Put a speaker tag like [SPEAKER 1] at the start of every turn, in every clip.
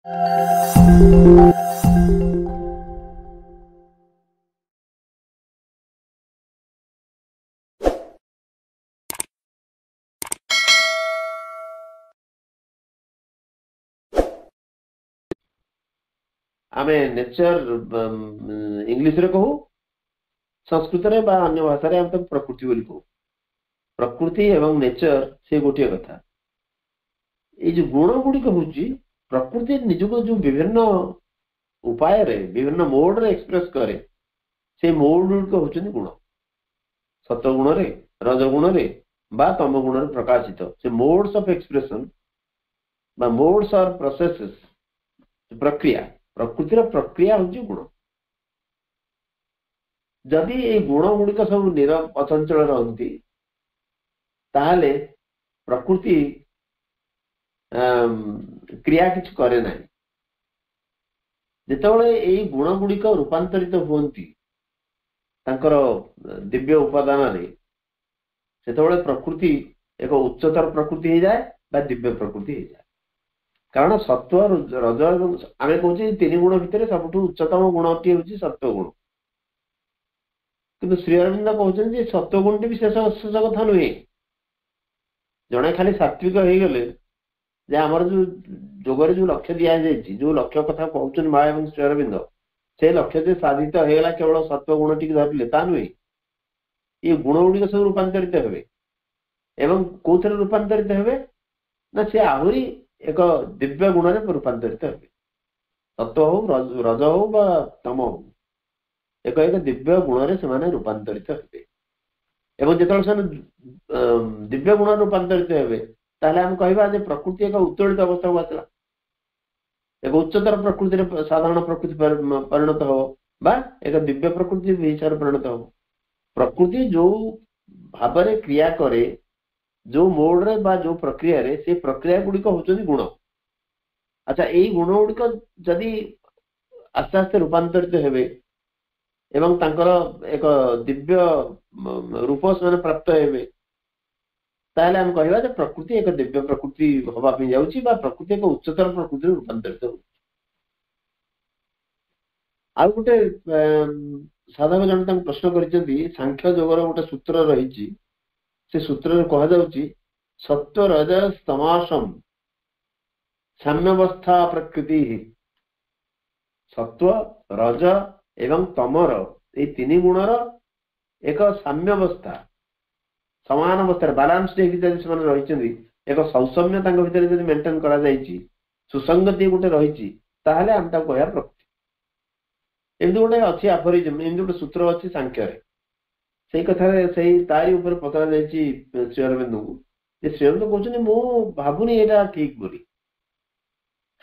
[SPEAKER 1] ଆମେ ନେଚର ଇଂଲିଶରେ କହୁ, ସଂସ୍କୃତରେ ବା ଅନ୍ୟ ଭାଷାରେ ଆମେ ତାକୁ ପ୍ରକୃତି ବୋଲି କହୁ। ପ୍ରକୃତି ଏବଂ ନେଚର ସେ ଗୋଟିଏ କଥା। ଏଇ ଯୋଉ ଗୁଣ ଗୁଡିକ ହଉଛି ପ୍ରକୃତି ନିଜକୁ ଯୋଉ ବିଭିନ୍ନ ଉପାୟରେ ବିଭିନ୍ନ ମୋଡରେ ଏକ୍ସପ୍ରେସ କରେ, ସେଇ ମୋଡ ଗୁଡିକ ହଉଛନ୍ତି ଗୁଣ। ସତ୍ୱଗୁଣରେ, ରଜଗୁଣରେ ବା ତମ ଗୁଣରେ ପ୍ରକାଶିତ ସେ ମୋଡ୍ସ ଅଫ ଏକ୍ସପ୍ରେସନ ବା ମୋଡ୍ସ ଅର ପ୍ରୋସେସେସ୍, ପ୍ରକ୍ରିୟା। ପ୍ରକୃତିର ପ୍ରକ୍ରିୟା ହଉଛି ଗୁଣ। ଯଦି ଏଇ ଗୁଣ ଗୁଡିକ ସବୁ ନିରବ ଅଚଞ୍ଚଳ ରହନ୍ତି, ତାହେଲେ ପ୍ରକୃତି କ୍ରିୟା କିଛି କରେ ନାହିଁ। ଯେତେବେଳେ ଏଇ ଗୁଣ ଗୁଡିକ ରୂପାନ୍ତରିତ ହୁଅନ୍ତି ତାଙ୍କର ଦିବ୍ୟ ଉପାଦାନରେ, ସେତେବେଳେ ପ୍ରକୃତି ଏକ ଉଚ୍ଚତର ପ୍ରକୃତି ହେଇଯାଏ ବା ଦିବ୍ୟ ପ୍ରକୃତି ହେଇଯାଏ। କାରଣ ସତ୍ୱ, ରଜ ଏବଂ ଆମେ କହୁଛେ ତିନି ଗୁଣ ଭିତରେ ସବୁଠୁ ଉଚ୍ଚତମ ଗୁଣଟି ହେଉଛି ସତ୍ୱ ଗୁଣ। କିନ୍ତୁ ଶ୍ରୀ ଅରବିନ୍ଦ କହୁଛନ୍ତି ଯେ ସତ୍ୱ ଗୁଣଟି ବି ଶେଷ ଶେଷ କଥା ନୁହେଁ। ଜଣେ ଖାଲି ସାତ୍ବିକ ହେଇଗଲେ ଯେ ଆମର ଯୋଉ ଯୋଗରେ ଯୋଉ ଲକ୍ଷ୍ୟ ଦିଆଯାଇଛି, ଯୋଉ ଲକ୍ଷ୍ୟ କଥା କହୁଛନ୍ତି ମା ଏବଂ ଶ୍ରୀ ଅରବିନ୍ଦ, ସେ ଲକ୍ଷ୍ୟ ଯେ ସାଧିତ ହେଇଗଲା କେବଳ ସତ୍ୱ ଗୁଣଟିକୁ ଧରିଲେ ତା ନୁହେଁ। ଏ ଗୁଣ ଗୁଡିକ ସବୁ ରୂପାନ୍ତରିତ ହେବେ ଏବଂ କୋଉଥିରେ ରୂପାନ୍ତରିତ ହେବେ ନା ସେ ଆହୁରି ଏକ ଦିବ୍ୟ ଗୁଣରେ ରୂପାନ୍ତରିତ ହେବେ। ସତ୍ୱ ହଉ, ରଜ ହଉ ବା ତମ ହଉ, ଏକ ଏକ ଦିବ୍ୟ ଗୁଣରେ ସେମାନେ ରୂପାନ୍ତରିତ ହେବେ। ଏବଂ ଯେତେବେଳେ ସେମାନେ ଦିବ୍ୟ ଗୁଣରେ ରୂପାନ୍ତରିତ ହେବେ, ତାହେଲେ ଆମେ କହିବା ଯେ ପ୍ରକୃତି ଏକ ଉତ୍ତୋଳିତ ଅବସ୍ଥାକୁ ଆସିଲା, ଏକ ଉଚ୍ଚତର ପ୍ରକୃତିରେ ସାଧାରଣ ପ୍ରକୃତି ପରିଣତ ହବ ବା ଏକ ଦିବ୍ୟ ପ୍ରକୃତି ହିସାବରେ ପରିଣତ ହବ। ପ୍ରକୃତି ଯୋଉ ଭାବରେ କ୍ରିୟା କରେ, ଯୋଉ ମୋଡରେ ବା ଯୋଉ ପ୍ରକ୍ରିୟାରେ, ସେ ପ୍ରକ୍ରିୟା ଗୁଡିକ ହଉଛନ୍ତି ଗୁଣ। ଆଚ୍ଛା, ଏଇ ଗୁଣ ଗୁଡିକ ଯଦି ଆସ୍ତେ ଆସ୍ତେ ରୂପାନ୍ତରିତ ହେବେ ଏବଂ ତାଙ୍କର ଏକ ଦିବ୍ୟ ରୂପ ସେମାନେ ପ୍ରାପ୍ତ ହେବେ, ତାହେଲେ ଆମେ କହିବା ଯେ ପ୍ରକୃତି ଏକ ଦିବ୍ୟ ପ୍ରକୃତି ହବା ପାଇଁ ଯାଉଛି ବା ପ୍ରକୃତି ଏକ ଉଚ୍ଚତର ପ୍ରକୃତିରେ ରୂପାନ୍ତରିତ ହଉଛି। ଆଉ ଗୋଟେ ସାଧକ ଜଣେ ତାଙ୍କୁ ପ୍ରଶ୍ନ କରିଛନ୍ତି, ସାଂଖ୍ୟ ଯୋଗର ଗୋଟେ ସୂତ୍ର ରହିଛି, ସେ ସୂତ୍ରରେ କୁହାଯାଉଛି ସତ୍ୱ ରଜ ତମାସମ ସାମ୍ୟାବସ୍ଥା ପ୍ରକୃତି। ସତ୍ୱ, ରଜ ଏବଂ ତମର ଏଇ ତିନି ଗୁଣର ଏକ ସାମ୍ୟାବସ୍ଥା, ସମାନ ଅବସ୍ଥାରେ ବାଲାନ୍ସ ହେଇକି ଯଦି ସେମାନେ ରହିଛନ୍ତି, ଏକ ସୌଷମ୍ୟ ତାଙ୍କ ଭିତରେ ଯଦି ମେଣ୍ଟେନ କରାଯାଇଛି, ସୁସଙ୍ଗତି ଗୋଟେ ରହିଛି, ତାହେଲେ ଆମେ ତାକୁ କହିବା ପ୍ରକୃତି। ଏମିତି ଗୋଟେ ଅଛି ଆଫୋରିଜମ, ଏମିତି ଗୋଟେ ସୂତ୍ର ଅଛି ସାଂଖ୍ୟରେ। ସେଇ କଥାରେ ସେଇ ତାରି ଉପରେ ପଚରା ଯାଇଛି ଶ୍ରୀ ଅରବିନ୍ଦଙ୍କୁ, ଯେ ଶ୍ରୀ ଅରବିନ୍ଦ କହୁଛନ୍ତି ମୁଁ ଭାବୁନି ଏଇଟା ଠିକ ବୋଲି।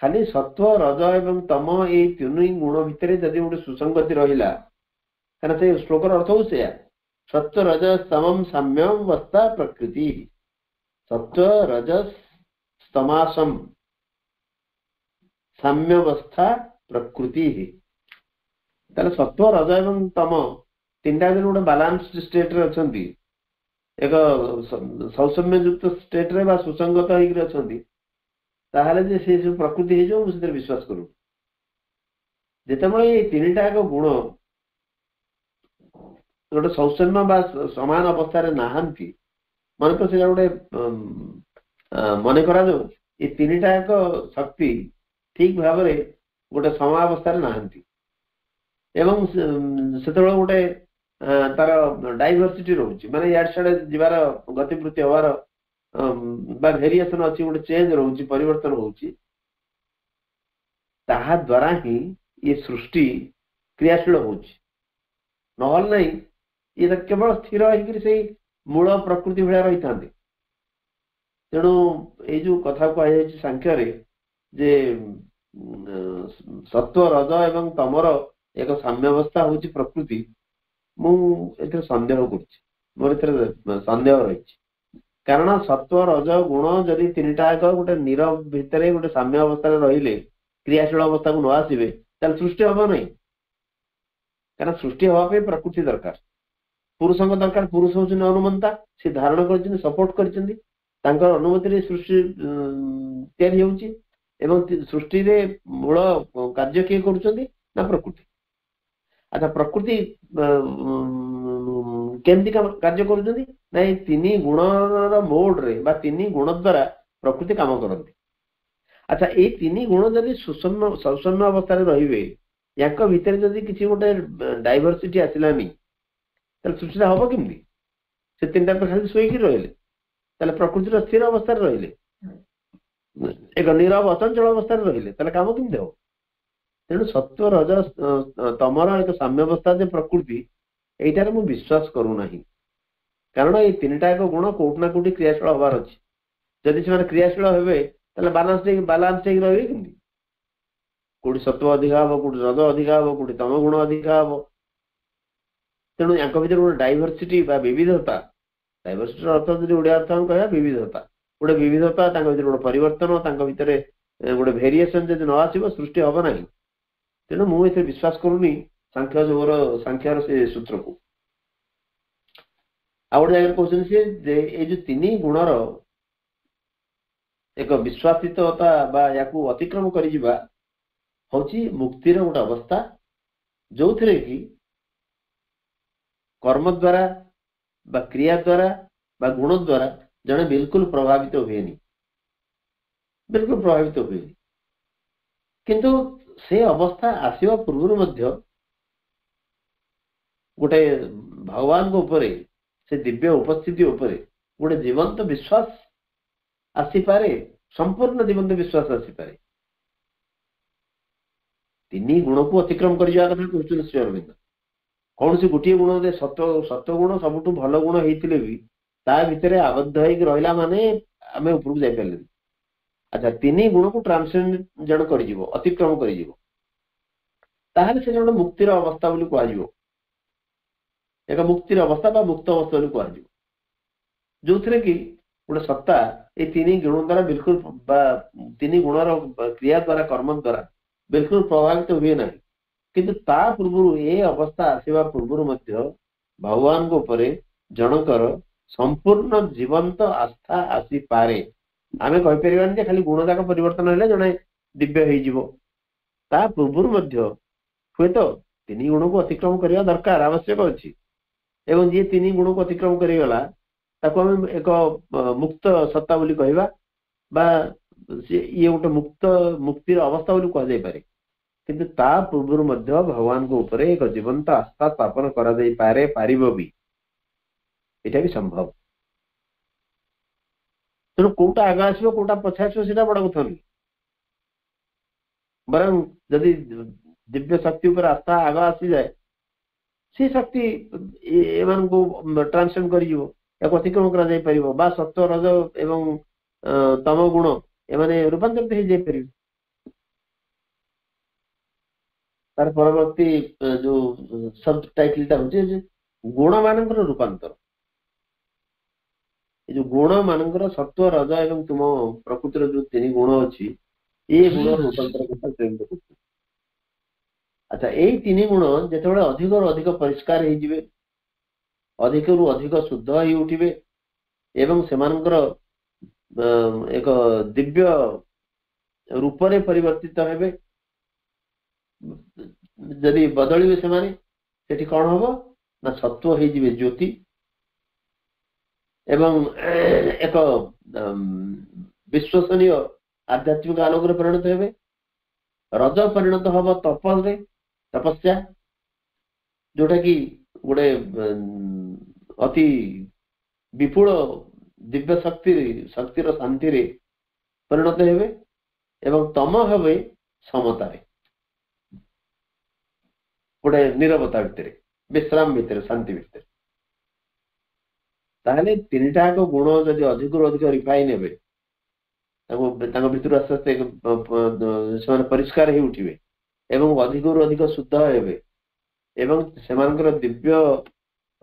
[SPEAKER 1] ଖାଲି ସତ୍ୱ, ରଜ ଏବଂ ତମ ଏଇ ତିନି ଗୁଣ ଭିତରେ ଯଦି ଗୋଟେ ସୁସଙ୍ଗତି ରହିଲା, କାରଣ ସେ ଶ୍ଲୋକର ଅର୍ଥ ହଉଛି ସେଇଆ, ସତ୍ୱ ରଜ ସ୍ତମମ ସାମ୍ୟବସ୍ଥା ପ୍ରକୃତି। ସତ୍ୱ ରଜ ସ୍ତମାସମ ସାମ୍ୟବସ୍ଥା ପ୍ରକୃତି। ତାହେଲେ ସତ୍ୱ, ରଜ ଏବଂ ତମ ତିନିଟା ଯଦି ଗୋଟେ ବାଲାନ୍ସ ଷ୍ଟେଟରେ ଅଛନ୍ତି, ଏକ ସୌଷମ୍ୟଯୁକ୍ତ ଷ୍ଟେଟରେ ବା ସୁସଙ୍ଗତ ହେଇକିରି ଅଛନ୍ତି, ତାହେଲେ ଯେ ସେ ସବୁ ପ୍ରକୃତି ହେଇଯିବ, ମୁଁ ସେଥିରେ ବିଶ୍ୱାସ କରୁନି। ଯେତେବେଳେ ଏଇ ତିନିଟା ଏକ ଗୁଣ ଗୋଟେ ସୌଷମ୍ୟ ବା ସମାନ ଅବସ୍ଥାରେ ନାହାନ୍ତି, ମନେକର ସେଇଟା ଗୋଟେ ମନେ କରାଯାଉ ଏଇ ତିନିଟା ଏକ ଶକ୍ତି ଠିକ ଭାବରେ ଗୋଟେ ସମାବସ୍ଥାରେ ନାହାନ୍ତି ଏବଂ ସେତେବେଳେ ଗୋଟେ ତାର ଡାଇଭରସିଟି ରହୁଛି, ମାନେ ଇଆଡେ ସିଆଡେ ଯିବାର ଗତିବୃତ୍ତି ହବାର ବା ଭେରିଏସନ ଅଛି, ଗୋଟେ ଚେଞ୍ଜ ରହୁଛି, ପରିବର୍ତ୍ତନ ହଉଛି, ତାହା ଦ୍ୱାରା ହିଁ ଇଏ ସୃଷ୍ଟି କ୍ରିୟାଶୀଳ ହଉଛି। ନହେଲେ ନାହିଁ ଇଏ ତ କେବଳ ସ୍ଥିର ହେଇକିରି ସେଇ ମୂଳ ପ୍ରକୃତି ଭଳିଆ ରହିଥାନ୍ତେ। ତେଣୁ ଏଇ ଯୋଉ କଥା କୁହାଯାଇଛି ସାଂଖ୍ୟରେ ଯେ ସତ୍ୱ, ରଜ ଏବଂ ତମର ଏକ ସାମ୍ୟାବସ୍ଥା ହଉଛି ପ୍ରକୃତି, ମୁଁ ଏଥିରେ ସନ୍ଦେହ କରୁଛି, ମୋର ଏଥିରେ ସନ୍ଦେହ ରହିଛି। କାରଣ ସତ୍ୱ, ରଜ, ଗୁଣ ଯଦି ତିନିଟା ଯାକ ଗୋଟେ ନିରବ ଭିତରେ ଗୋଟେ ସାମ୍ୟ ଅବସ୍ଥାରେ ରହିଲେ, କ୍ରିୟାଶୀଳ ଅବସ୍ଥାକୁ ନ ଆସିବେ, ତାହେଲେ ସୃଷ୍ଟି ହବ ନାହିଁ। କାରଣ ସୃଷ୍ଟି ହବା ପାଇଁ ପ୍ରକୃତି ଦରକାର, ପୁରୁଷଙ୍କ ଦରକାର। ପୁରୁଷ ହଉଛନ୍ତି ଅନୁମନ୍ତା, ସେ ଧାରଣ କରିଛନ୍ତି, ସପୋର୍ଟ କରିଛନ୍ତି, ତାଙ୍କର ଅନୁମତିରେ ସୃଷ୍ଟି ତିଆରି ହେଉଛି। ଏବଂ ସୃଷ୍ଟିରେ ମୂଳ କାର୍ଯ୍ୟ କିଏ କରୁଛନ୍ତି ନା ପ୍ରକୃତି। ଆଚ୍ଛା, ପ୍ରକୃତି କେମିତି କାର୍ଯ୍ୟ କରୁଛନ୍ତି ନା ଏଇ ତିନି ଗୁଣର ମୋଡରେ ବା ତିନି ଗୁଣ ଦ୍ଵାରା ପ୍ରକୃତି କାମ କରନ୍ତି। ଆଚ୍ଛା, ଏଇ ତିନି ଗୁଣ ଯଦି ସୁଷମ୍ୟ ଅବସ୍ଥାରେ ରହିବେ, ୟାଙ୍କ ଭିତରେ ଯଦି କିଛି ଗୋଟେ ଡାଇଭରସିଟି ଆସିଲାନି, ତାହେଲେ ସୃଷ୍ଟିଟା ହବ କେମିତି? ସେ ତିନିଟା ତ ଖାଲି ଶୋଇକି ରହିଲେ, ତାହେଲେ ପ୍ରକୃତିର ସ୍ଥିର ଅବସ୍ଥାରେ ରହିଲେ, ଏକ ନିରବ ଅଚଞ୍ଚଳ ଅବସ୍ଥାରେ ରହିଲେ, ତାହେଲେ କାମ କେମିତି ହବ? ତେଣୁ ସତ୍ୱ ରଜ ତମର ଏକ ସାମ୍ୟାବସ୍ଥା ଯେ ପ୍ରକୃତି, ଏଇଟାରେ ମୁଁ ବିଶ୍ୱାସ କରୁନାହିଁ। କାରଣ ଏଇ ତିନିଟା ଏକ ଗୁଣ କୋଉଠି ନା କୋଉଠି କ୍ରିୟାଶୀଳ ହବାର ଅଛି। ଯଦି ସେମାନେ କ୍ରିୟାଶୀଳ ହେବେ ତାହେଲେ ବାଲାନ୍ସ ହେଇକି ରହିବେ କେମିତି? କୋଉଠି ସତ୍ୱ ଅଧିକା ହବ, କୋଉଠି ରଜ ଅଧିକା ହବ, କୋଉଠି ତମ ଗୁଣ ଅଧିକା ହବ। ତେଣୁ ୟାଙ୍କ ଭିତରେ ଗୋଟେ ଡାଇଭରସିଟି ବା ବିବିଧତା, ଡାଇଭରସିଟିର ଅର୍ଥ ଯଦି ଓଡିଆ ଅର୍ଥ ଆମେ କହିବା ବିବିଧତା, ଗୋଟେ ବିବିଧତା, ତାଙ୍କ ଭିତରେ ଗୋଟେ ପରିବର୍ତ୍ତନ, ତାଙ୍କ ଭିତରେ ଗୋଟେ ଭେରିଏସନ ଯଦି ନ ଆସିବ ସୃଷ୍ଟି ହବ ନାହିଁ। ତେଣୁ ମୁଁ ଏଥିରେ ବିଶ୍ୱାସ କରୁନି ସାଂଖ୍ୟ ଯୋଗର ସାଂଖ୍ୟର ସେ ସୂତ୍ରକୁ। ଆଉ ଗୋଟେ ଜାଗାରେ କହୁଛନ୍ତି ସେ ଯେ ଏଇ ଯୋଉ ତିନି ଗୁଣର ଏକ ବିଶ୍ୱାସିତତା ବା ୟାକୁ ଅତିକ୍ରମ କରିଯିବା ହଉଛି ମୁକ୍ତିର ଗୋଟେ ଅବସ୍ଥା, ଯୋଉଥିରେ କି କର୍ମ ଦ୍ଵାରା ବା କ୍ରିୟା ଦ୍ଵାରା ବା ଗୁଣ ଦ୍ଵାରା ଜଣେ ବିଲକୁଲ ପ୍ରଭାବିତ ହୁଏନି, ବିଲକୁଲ ପ୍ରଭାବିତ ହୁଏନି। କିନ୍ତୁ ସେ ଅବସ୍ଥା ଆସିବା ପୂର୍ବରୁ ମଧ୍ୟ ଗୋଟେ ଭଗବାନଙ୍କ ଉପରେ, ସେ ଦିବ୍ୟ ଉପସ୍ଥିତି ଉପରେ ଗୋଟେ ଜୀବନ୍ତ ବିଶ୍ୱାସ ଆସିପାରେ, ସମ୍ପୂର୍ଣ୍ଣ ଜୀବନ୍ତ ବିଶ୍ୱାସ ଆସିପାରେ। ତିନି ଗୁଣକୁ ଅତିକ୍ରମ କରିଯିବା କଥା କହୁଛନ୍ତି ଶ୍ରୀ ଅରବିନ୍ଦ। କୌଣସି ଗୋଟିଏ ଗୁଣ ସତ୍ୱ ଗୁଣ ସବୁଠୁ ଭଲ ଗୁଣ ହେଇଥିଲେ ବି ତା ଭିତରେ ଆବଦ୍ଧ ହେଇକି ରହିଲା ମାନେ ଆମେ ଉପରକୁ ଯାଇପାରିଲେନି। ଆଚ୍ଛା, ତିନି ଗୁଣକୁ ଟ୍ରାନ୍ସେଣ୍ଡ ଜଣେ କରିଯିବ, ଅତିକ୍ରମ କରିଯିବ, ତାହେଲେ ସେ ଜଣେ ମୁକ୍ତିର ଅବସ୍ଥା ବୋଲି କୁହାଯିବ, ଏକ ମୁକ୍ତିର ଅବସ୍ଥା ବା ମୁକ୍ତ ଅବସ୍ଥା ବୋଲି କୁହାଯିବ, ଯୋଉଥିରେ କି ଗୋଟେ ସତ୍ତା ଏଇ ତିନି ଗୁଣ ଦ୍ଵାରା ବିଲକୁଲ ବା ତିନି ଗୁଣର କ୍ରିୟା ଦ୍ଵାରା, କର୍ମ ଦ୍ଵାରା ବିଲକୁଲ ପ୍ରଭାବିତ ହୁଏ ନାହିଁ। କିନ୍ତୁ ତା ପୂର୍ବରୁ, ଏ ଅବସ୍ଥା ଆସିବା ପୂର୍ବରୁ ମଧ୍ୟ ଭଗବାନଙ୍କ ଉପରେ ଜଣଙ୍କର ସମ୍ପୂର୍ଣ୍ଣ ଜୀବନ୍ତ ଆସ୍ଥା ଆସିପାରେ। ଆମେ କହିପାରିବାନି ଯେ ଖାଲି ଗୁଣ ଯାକ ପରିବର୍ତ୍ତନ ହେଲେ ଜଣେ ଦିବ୍ୟ ହେଇଯିବ। ତା ପୂର୍ବରୁ ମଧ୍ୟ ହୁଏତ ତିନି ଗୁଣକୁ ଅତିକ୍ରମ କରିବା ଦରକାର, ଆବଶ୍ୟକ ଅଛି। ଏବଂ ଯିଏ ତିନି ଗୁଣକୁ ଅତିକ୍ରମ କରିଗଲା ତାକୁ ଆମେ ଏକ ମୁକ୍ତ ସତ୍ତା ବୋଲି କହିବା, ବା ଇଏ ଗୋଟେ ମୁକ୍ତିର ଅବସ୍ଥା ବୋଲି କୁହାଯାଇପାରେ। କିନ୍ତୁ ତା ପୂର୍ବରୁ ମଧ୍ୟ ଭଗବାନଙ୍କ ଉପରେ ଏକ ଜୀବନ୍ତ ଆସ୍ଥା ସ୍ଥାପନ କରାଯାଇପାରେ, ପାରିବ ବି, ଏଇଟା ବି ସମ୍ଭବ। ତେଣୁ କୋଉଟା ଆଗ ଆସିବ କୋଉଟା ପଛେ ଆସିବ ସେଇଟା ବଡ କଥା ନୁହେଁ, ବରଂ ଯଦି ଦିବ୍ୟ ଶକ୍ତି ଉପରେ ଆସ୍ଥା ଆଗ ଆସିଯାଏ, ସେ ଶକ୍ତି ଏମାନଙ୍କୁ ଟ୍ରାନ୍ସେଣ୍ଡ କରିଯିବ, ଏହାକୁ ଅତିକ୍ରମ କରାଯାଇ ପାରିବ, ବା ସତ୍ୱ ରଜ ଏବଂ ତମ ଗୁଣ ଏମାନେ ରୂପାନ୍ତରିତ ହେଇଯାଇପାରିବେ। ତାର ପରବର୍ତ୍ତୀ ଯୋଉ ସବ୍ ଟାଇଟଲ ଟା ହଉଛି ଗୁଣ ମାନଙ୍କର ରୂପାନ୍ତର। ଏ ଯୋଉ ଗୁଣ ମାନଙ୍କର ସତ୍ୱ ରଜ ଏବଂ ତୁମ ପ୍ରକୃତିର ଯୋଉ ତିନି ଗୁଣ ଅଛି, ଏ ଗୁଣର ରୂପାନ୍ତର କଥା ପ୍ରେରିତ କରୁଛି। ଆଚ୍ଛା, ଏଇ ତିନି ଗୁଣ ଯେତେବେଳେ ଅଧିକରୁ ଅଧିକ ପରିଷ୍କାର ହେଇଯିବେ, ଅଧିକରୁ ଅଧିକ ଶୁଦ୍ଧ ହେଇ ଉଠିବେ ଏବଂ ସେମାନଙ୍କର ଏକ ଦିବ୍ୟ ରୂପରେ ପରିବର୍ତ୍ତିତ ହେବେ, ଯଦି ବଦଳିବେ ସେମାନେ, ସେଠି କଣ ହବ ନା ସତ୍ୱ ହେଇଯିବେ ଜ୍ୟୋତି ଏବଂ ଏକ ବିଶ୍ୱସନୀୟ ଆଧ୍ୟାତ୍ମିକ ଆଲୋକରେ ପରିଣତ ହେବେ। ରଜ ପରିଣତ ହବ ତପରେ, ତପସ୍ୟା, ଯୋଉଟା କି ଗୋଟେ ଅତି ବିପୁଳ ଦିବ୍ୟ ଶକ୍ତିର ଶାନ୍ତିରେ ପରିଣତ ହେବେ, ଏବଂ ତମ ହେବେ ସମତାରେ, ଗୋଟେ ନିରବତା ଭିତରେ, ବିଶ୍ରାମ ଭିତରେ, ଶାନ୍ତି ଭିତରେ। ତାହେଲେ ତିନିଟା ଯାକ ଗୁଣ ଯଦି ଅଧିକରୁ ଅଧିକ ରିଫାଇନ ହେବେ, ତାଙ୍କ ଭିତରୁ ଆସ୍ତେ ଆସ୍ତେ ସେମାନେ ପରିଷ୍କାର ହେଇ ଉଠିବେ ଏବଂ ଅଧିକରୁ ଅଧିକ ଶୁଦ୍ଧ ହେବେ ଏବଂ ସେମାନଙ୍କର ଦିବ୍ୟ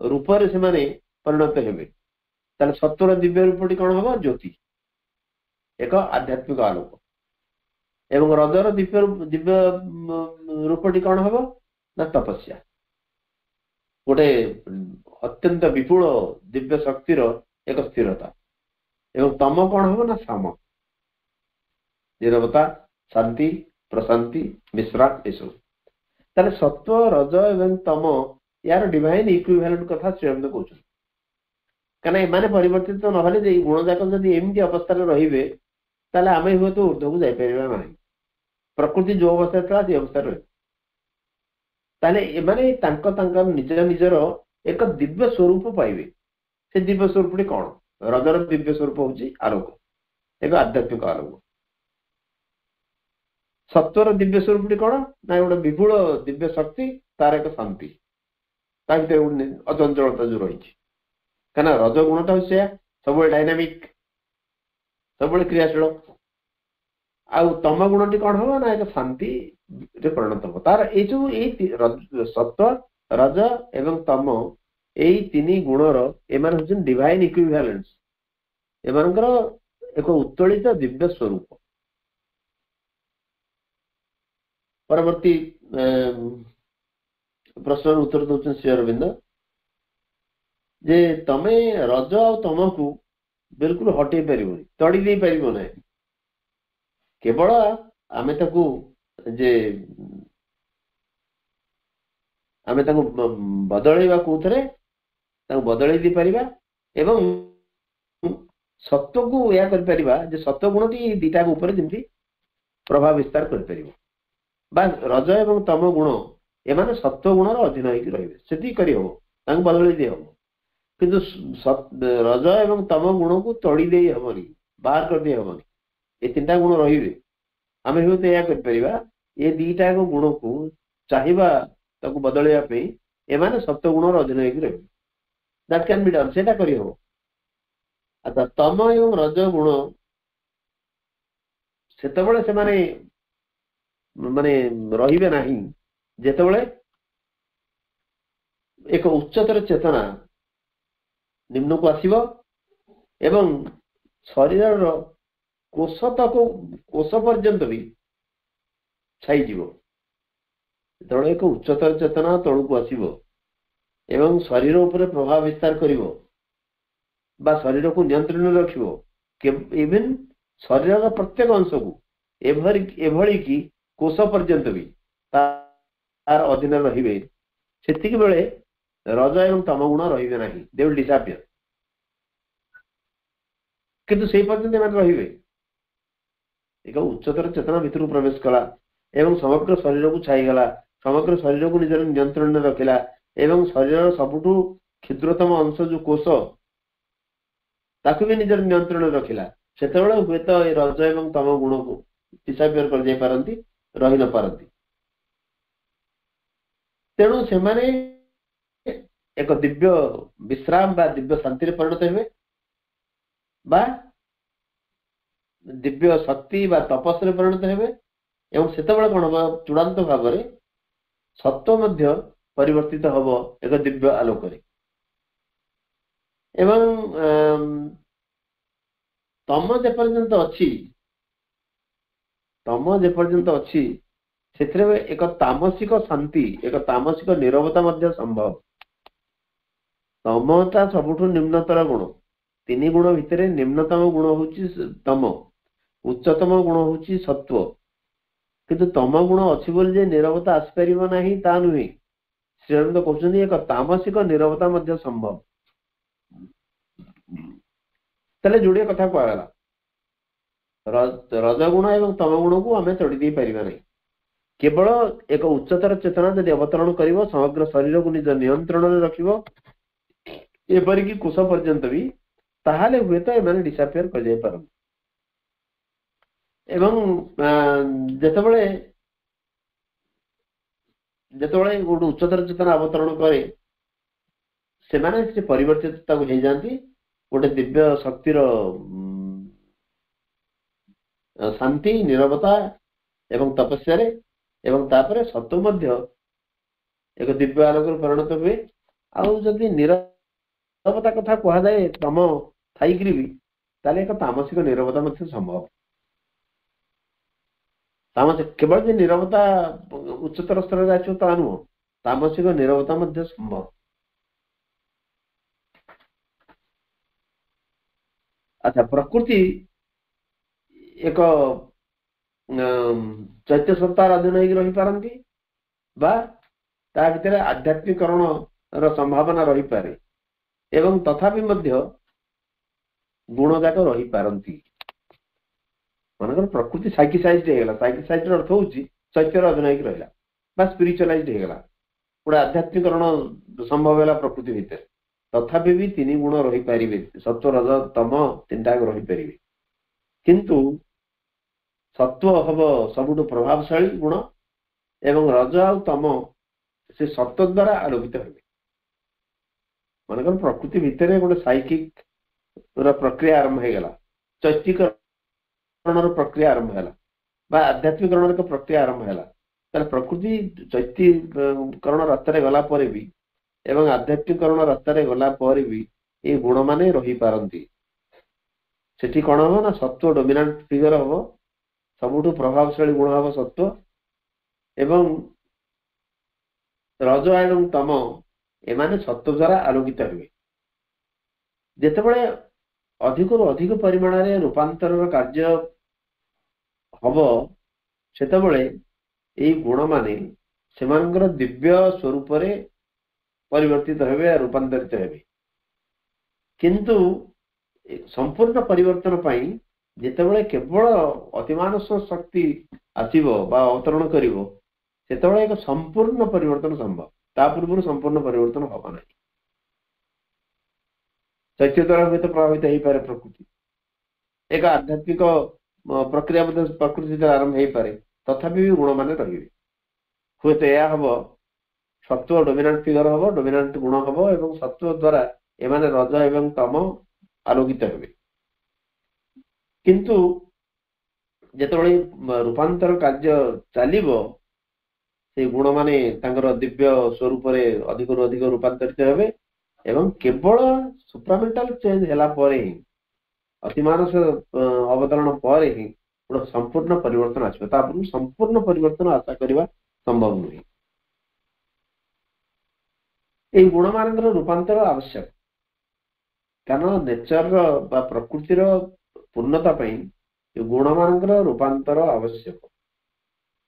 [SPEAKER 1] ରୂପରେ ସେମାନେ ପରିଣତ ହେବେ। ତାହେଲେ ସତ୍ୱର ଦିବ୍ୟ ରୂପଟି କଣ ହବ? ଜ୍ୟୋତି, ଏକ ଆଧ୍ୟାତ୍ମିକ ଆଲୋକ। ଏବଂ ରଜର ଦିବ୍ୟ ରୂପଟି କଣ ହବ ନା ତପସ୍ୟା, ଗୋଟେ ଅତ୍ୟନ୍ତ ବିପୁଳ ଦିବ୍ୟ ଶକ୍ତିର ଏକ ସ୍ଥିରତା। ଏବଂ ତମ କଣ ହବ ନା ସାମ, ନିରବତା, ଶାନ୍ତି, ପ୍ରଶାନ୍ତି, ବିଶ୍ରାମ ଏସବୁ। ତାହେଲେ ସତ୍ୱ, ରଜ ଏବଂ ତମ ୟାର ଡିଭାଇନ ଇକ୍ୱିଭାଲେଣ୍ଟ କଥା ଶ୍ରୀଅରବିନ୍ଦ କହୁଛନ୍ତି। କାହିଁକିନା ଏମାନେ ପରିବର୍ତ୍ତିତ ନହେଲେ, ଏଇ ଗୁଣ ଯାକ ଯଦି ଏମିତି ଅବସ୍ଥାରେ ରହିବେ, ତାହେଲେ ଆମେ ହୁଏତ ଉର୍ଦ୍ଧ୍ୱକୁ ଯାଇପାରିବା ନାହିଁ। ପ୍ରକୃତି ଯୋଉ ଅବସ୍ଥାରେ ଥିଲା ସେଇ ଅବସ୍ଥାରେ ରହିବ। ତାହେଲେ ଏମାନେ ତାଙ୍କ ତାଙ୍କର ନିଜ ନିଜର ଏକ ଦିବ୍ୟ ସ୍ୱରୂପ ପାଇବେ। ସେ ଦିବ୍ୟ ସ୍ୱରୂପଟି କଣ? ରଜର ଦିବ୍ୟ ସ୍ୱରୂପ ହଉଛି ଆଲୋକ, ଏକ ଆଧ୍ୟାତ୍ମିକ ଆଲୋକ। ସତ୍ୱର ଦିବ୍ୟ ସ୍ୱରୂପଟି କଣ ନା ଗୋଟେ ବିପୁଳ ଦିବ୍ୟ ଶକ୍ତି, ତାର ଏକ ଶାନ୍ତି, ତା ଭିତରେ ଗୋଟେ ଅଚଞ୍ଚଳତା ଯୋଉ ରହିଛି। କାହିଁକିନା ରଜ ଗୁଣଟା ହଉଛି ସେୟା, ସବୁବେଳେ ଡାଇନାମିକ, ସବୁବେଳେ କ୍ରିୟାଶୀଳ। ଆଉ ତମ ଗୁଣଟି କଣ ହବ ନା ଏକ ଶାନ୍ତିରେ ପରିଣତ ହବ। ତାର ଏଇ ଯୋଉ ଏଇ ସତ୍ୱ, ରଜ ଏବଂ ତମ ଏଇ ତିନି ଗୁଣର ଏମାନେ ହଉଛନ୍ତି ଡିଭାଇନ ଇକ୍ୱିଭାଲେନ୍ସ, ଏମାନଙ୍କର ଏକ ଉତ୍ତୋଳିତ ଦିବ୍ୟ ସ୍ୱରୂପ। ପରବର୍ତ୍ତୀ ପ୍ରଶ୍ନର ଉତ୍ତର ଦଉଛନ୍ତି ଶ୍ରୀ ଅରବିନ୍ଦ ଯେ ତମେ ରଜ ଆଉ ତମକୁ ବିଲକୁଲ ହଟେଇ ପାରିବନି, ତଡ଼ି ଦେଇ ପାରିବ ନାହିଁ। କେବଳ ଆମେ ତାକୁ ଯେ ଆମେ ତାକୁ ବଦଳେଇବା କୋଉଥିରେ, ତାକୁ ବଦଳେଇ ଦେଇପାରିବା ଏବଂ ସତ୍ୱକୁ ଏହା କରିପାରିବା ଯେ ସତ୍ୱ ଗୁଣଟି ଦିଟା ଉପରେ ଯେମିତି ପ୍ରଭାବ ବିସ୍ତାର କରିପାରିବ, ବା ରଜ ଏବଂ ତମ ଗୁଣ ଏମାନେ ସତ୍ୱ ଗୁଣର ଅଧୀନ ହେଇକି ରହିବେ, ସେତିକି କରିହବ, ତାଙ୍କୁ ବଦଳେଇ ଦେଇ ହବ। କିନ୍ତୁ ରଜ ଏବଂ ତମ ଗୁଣକୁ ତଡ଼ି ଦେଇ ହବନି, ବାହାର କରିଦେଇ ହବନି। ଏ ତିନିଟା ଗୁଣ ରହିବେ। ଆମେ ହୁଏତ ଏହା କରିପାରିବା, ଏ ଦିଟା ଗୁଣକୁ ଚାହିଁବା ତାକୁ ବଦଳେଇବା ପାଇଁ, ଏମାନେ ସତ୍ୱ ଗୁଣର ଅଧୀନ ହେଇକି ରହିବେ। That can be Don, ସେଇଟା କରିହବ। ଆଚ୍ଛା, ତମ ଏବଂ ରଜ ଗୁଣ ସେତେବେଳେ ସେମାନେ ମାନେ ରହିବେ ନାହିଁ ଯେତେବେଳେ ଏକ ଉଚ୍ଚତର ଚେତନା ନିମ୍ନକୁ ଆସିବ ଏବଂ ଶରୀରର କୋଷ ତକ, କୋଷ ପର୍ଯ୍ୟନ୍ତ ବି ଛାଇଯିବ। ଯେତେବେଳେ ଏକ ଉଚ୍ଚତର ଚେତନା ତଳକୁ ଆସିବ ଏବଂ ଶରୀର ଉପରେ ପ୍ରଭାବ ବିସ୍ତାର କରିବ ବା ଶରୀରକୁ ନିୟନ୍ତ୍ରଣରେ ରଖିବ, ଇଭେନ୍ ଶରୀରର ପ୍ରତ୍ୟେକ ଅଂଶକୁ, ଏଭଳି କି କୋଷ ପର୍ଯ୍ୟନ୍ତ ବି ତାର ଅଧୀନରେ ରହିବେ, ସେତିକି ବେଳେ ରଜ ଏବଂ ତମ ଗୁଣ ରହିବେ ନାହିଁ, ଦେ will ଡିସାପିୟର। କିନ୍ତୁ ସେଇ ପର୍ଯ୍ୟନ୍ତ ଏମାନେ ରହିବେ। ଏକ ଉଚ୍ଚତର ଚେତନା ଭିତରକୁ ପ୍ରବେଶ କଲା ଏବଂ ସମଗ୍ର ଶରୀରକୁ ଛାଇଗଲା, ସମଗ୍ର ଶରୀରକୁ ନିଜର ନିୟନ୍ତ୍ରଣରେ ରଖିଲା ଏବଂ ଶରୀରର ସବୁଠୁ କ୍ଷୁଦ୍ରତମ ଅଂଶ ଯୋଉ କୋଷ, ତାକୁ ବି ନିଜର ନିୟନ୍ତ୍ରଣରେ ରଖିଲା, ସେତେବେଳେ ହୁଏତ ଏ ରଜ ଏବଂ ତମ ଗୁଣକୁ ଡିସାପିୟର କରିଯାଇ ପାରନ୍ତି, ରହି ନ ପାରନ୍ତି। ତେଣୁ ସେମାନେ ଏକ ଦିବ୍ୟ ବିଶ୍ରାମ ବା ଦିବ୍ୟ ଶାନ୍ତିରେ ପରିଣତ ହେବେ ବା ଦିବ୍ୟ ଶକ୍ତି ବା ତପସ୍ରେ ପରିଣତ ହେବେ। ଏବଂ ସେତେବେଳେ କଣ ହବ, ଚୂଡ଼ାନ୍ତ ଭାବରେ ସତ୍ୱ ମଧ୍ୟ ପରିବର୍ତ୍ତିତ ହବ ଏକ ଦିବ୍ୟ ଆଲୋକରେ। ଏବଂ ତମ ଯେପର୍ଯ୍ୟନ୍ତ ଅଛି, ତମ ଯେପର୍ଯ୍ୟନ୍ତ ଅଛି, ସେଥିରେ ଏକ ତାମସିକ ଶାନ୍ତି, ଏକ ତାମସିକ ନିରବତା ମଧ୍ୟ ସମ୍ଭବ। ତମଟା ସବୁଠୁ ନିମ୍ନତର ଗୁଣ। ତିନି ଗୁଣ ଭିତରେ ନିମ୍ନତମ ଗୁଣ ହଉଛି ତମ, ଉଚ୍ଚତମ ଗୁଣ ହଉଛି ସତ୍ୱ। କିନ୍ତୁ ତମ ଗୁଣ ଅଛି ବୋଲି ଯେ ନିରବତା ଆସିପାରିବ ନାହିଁ ତା ନୁହେଁ। ଶ୍ରୀଅରବିନ୍ଦ କହୁଛନ୍ତି ଏକ ତାମସିକ ନିରବତା ମଧ୍ୟ ସମ୍ଭବ। ତାହେଲେ ଯୋଡ଼ିଏ କଥା କୁହାଗଲା, ରଜଗୁଣ ଏବଂ ତମ ଗୁଣକୁ ଆମେ ତଡ଼ି ଦେଇ ପାରିବା ନାହିଁ। କେବଳ ଏକ ଉଚ୍ଚତର ଚେତନା ଯଦି ଅବତରଣ କରିବ, ସମଗ୍ର ଶରୀରକୁ ନିଜ ନିୟନ୍ତ୍ରଣରେ ରଖିବ, ଏପରିକି କୋଷ ପର୍ଯ୍ୟନ୍ତ ବି, ତାହେଲେ ହୁଏତ ଏମାନେ ଡିସାପିୟର କରିଯାଇ ପାରନ୍ତି। ଏବଂ ଯେତେବେଳେ ଯେତେବେଳେ ଗୋଟେ ଉଚ୍ଚତର ଚେତନା ଅବତରଣ କରେ, ସେମାନେ ସେ ପରିବର୍ତ୍ତିତ ତାକୁ ହେଇଯାଆନ୍ତି ଗୋଟେ ଦିବ୍ୟ ଶକ୍ତିର ଶାନ୍ତି, ନିରବତା ଏବଂ ତପସ୍ୟାରେ। ଏବଂ ତାପରେ ସତ୍ୱ ମଧ୍ୟ ଏକ ଦିବ୍ୟ ଆଲୋକରେ ପରିଣତ ହୁଏ। ଆଉ ଯଦି ନିରବତା କଥା କୁହାଯାଏ ତମ ଥାଇକିରି ବି, ତାହେଲେ ଏକ ତାମସିକ ନିରବତା ମଧ୍ୟ ସମ୍ଭବ। ତାମସିକ କେବଳ ଯେ ନିରବତା ଉଚ୍ଚତର ସ୍ତରରେ ଆସିବ ତା ନୁହଁ, ତାମସିକ ନିରବତା ମଧ୍ୟ ସମ୍ଭବ। ଆଚ୍ଛା, ପ୍ରକୃତି ଏକ ଚୈତ୍ୟ ସତ୍ତାର ଅଧୀନ ହେଇକି ରହିପାରନ୍ତି ବା ତା ଭିତରେ ଆଧ୍ୟାତ୍ମିକରଣର ସମ୍ଭାବନା ରହିପାରେ ଏବଂ ତଥାପି ମଧ୍ୟ ଗୁଣ ଯାକ ରହିପାରନ୍ତି। ମନେକର ପ୍ରକୃତି ସାଇକିସାଇଜଡ ହେଇଗଲା, ସାଇକିସାଇଜର ଅର୍ଥ ହଉଛି ଚୈତ୍ୟର ଅଧୀନ ହେଇକି ରହିଲା ବା ସ୍ପିରିଚୁଆଲାଇଜଡ ହେଇଗଲା, ଗୋଟେ ଆଧ୍ୟାତ୍ମିକରଣ ସମ୍ଭବ ହେଲା ପ୍ରକୃତି ଭିତରେ, ତଥାପି ବି ତିନି ଗୁଣ ରହିପାରିବେ, ସତ୍ୱ ରଜ ତମ ତିନିଟା ରହିପାରିବେ। କିନ୍ତୁ ସତ୍ୱ ହବ ସବୁଠୁ ପ୍ରଭାବଶାଳୀ ଗୁଣ ଏବଂ ରଜ ଆଉ ତମ ସେ ସତ୍ୱ ଦ୍ୱାରା ଆଲୋକିତ ହେବେ। ମନେକର ପ୍ରକୃତି ଭିତରେ ଗୋଟେ ସାଇକିକ ର ପ୍ରକ୍ରିୟା ଆରମ୍ଭ ହେଇଗଲା, ଚୈତ୍ୟକରଣର ପ୍ରକ୍ରିୟା ଆରମ୍ଭ ହେଲା ବା ଆଧ୍ୟାତ୍ମିକରଣର ଏକ ପ୍ରକ୍ରିୟା ଆରମ୍ଭ ହେଲା, ତାହେଲେ ପ୍ରକୃତି ଚୈତ୍ୟକରଣ ରାସ୍ତାରେ ଗଲା ପରେ ବି ଏବଂ ଆଧ୍ୟାତ୍ମିକରଣ ରାସ୍ତାରେ ଗଲା ପରେ ବି ଏଇ ଗୁଣମାନେ ରହିପାରନ୍ତି। ସେଠି କଣ ହବ ନା ସତ୍ୱ ଡୋମିନାଣ୍ଟ ଫିଗର ହବ, ସବୁଠୁ ପ୍ରଭାବଶାଳୀ ଗୁଣ ହବ ସତ୍ୱ, ଏବଂ ରଜ ଏବଂ ତମ ଏମାନେ ସତ୍ୱ ଦ୍ୱାରା ଆଲୋକିତ ହେବେ। ଯେତେବେଳେ ଅଧିକରୁ ଅଧିକ ପରିମାଣରେ ରୂପାନ୍ତରର କାର୍ଯ୍ୟ ହବ, ସେତେବେଳେ ଏଇ ଗୁଣମାନେ ସେମାନଙ୍କର ଦିବ୍ୟ ସ୍ୱରୂପରେ ପରିବର୍ତ୍ତିତ ହେବେ, ରୂପାନ୍ତରିତ ହେବେ। କିନ୍ତୁ ସମ୍ପୂର୍ଣ୍ଣ ପରିବର୍ତ୍ତନ ପାଇଁ ଯେତେବେଳେ କେବଳ ଅତିମାନସ ଶକ୍ତି ଆସିବ ବା ଅବତରଣ କରିବ, ସେତେବେଳେ ଏକ ସମ୍ପୂର୍ଣ୍ଣ ପରିବର୍ତ୍ତନ ସମ୍ଭବ। ତା ପୂର୍ବରୁ ସମ୍ପୂର୍ଣ୍ଣ ପରିବର୍ତ୍ତନ ହବ ନାହିଁ। ଚୈତ୍ୟ ଦ୍ୱାରା ହୁଏତ ପ୍ରଭାବିତ ହେଇପାରେ ପ୍ରକୃତି, ଏକ ଆଧ୍ୟାତ୍ମିକ ପ୍ରକ୍ରିୟା ମଧ୍ୟ ପ୍ରକୃତି ଦ୍ୱାରା ଆରମ୍ଭ ହେଇପାରେ, ତଥାପି ବି ଗୁଣମାନେ ରହିବେ। ହୁଏତ ଏହା ହବ ସତ୍ୱ ଡୋମିନାଣ୍ଟ ଫିଗର ହବ, ଡୋମିନାଣ୍ଟ ଗୁଣ ହବ ଏବଂ ସତ୍ୱ ଦ୍ୱାରା ଏମାନେ ରଜ ଏବଂ ତମ ଆଲୋକିତ ହେବେ। କିନ୍ତୁ ଯେତେବେଳେ ରୂପାନ୍ତର କାର୍ଯ୍ୟ ଚାଲିବ, ସେଇ ଗୁଣମାନେ ତାଙ୍କର ଦିବ୍ୟ ସ୍ୱରୂପରେ ଅଧିକରୁ ଅଧିକ ରୂପାନ୍ତରିତ ହେବେ ଏବଂ କେବଳ ସୁପ୍ରାମେଣ୍ଟାଲ ଚେଞ୍ଜ ହେଲା ପରେ ହିଁ, ଅତିମାନସ ଅବତରଣ ପରେ ହିଁ ଗୋଟେ ସମ୍ପୂର୍ଣ୍ଣ ପରିବର୍ତ୍ତନ ଆସିବ। ତା ପୂର୍ବରୁ ସମ୍ପୂର୍ଣ୍ଣ ପରିବର୍ତ୍ତନ ଆଶା କରିବା ସମ୍ଭବ ନୁହେଁ। ଏଇ ଗୁଣମାନଙ୍କର ରୂପାନ୍ତର ଆବଶ୍ୟକ, କାରଣ ନେଚରର ବା ପ୍ରକୃତିର ପୂର୍ଣ୍ଣତା ପାଇଁ ଏ ଗୁଣମାନଙ୍କର ରୂପାନ୍ତର ଆବଶ୍ୟକ।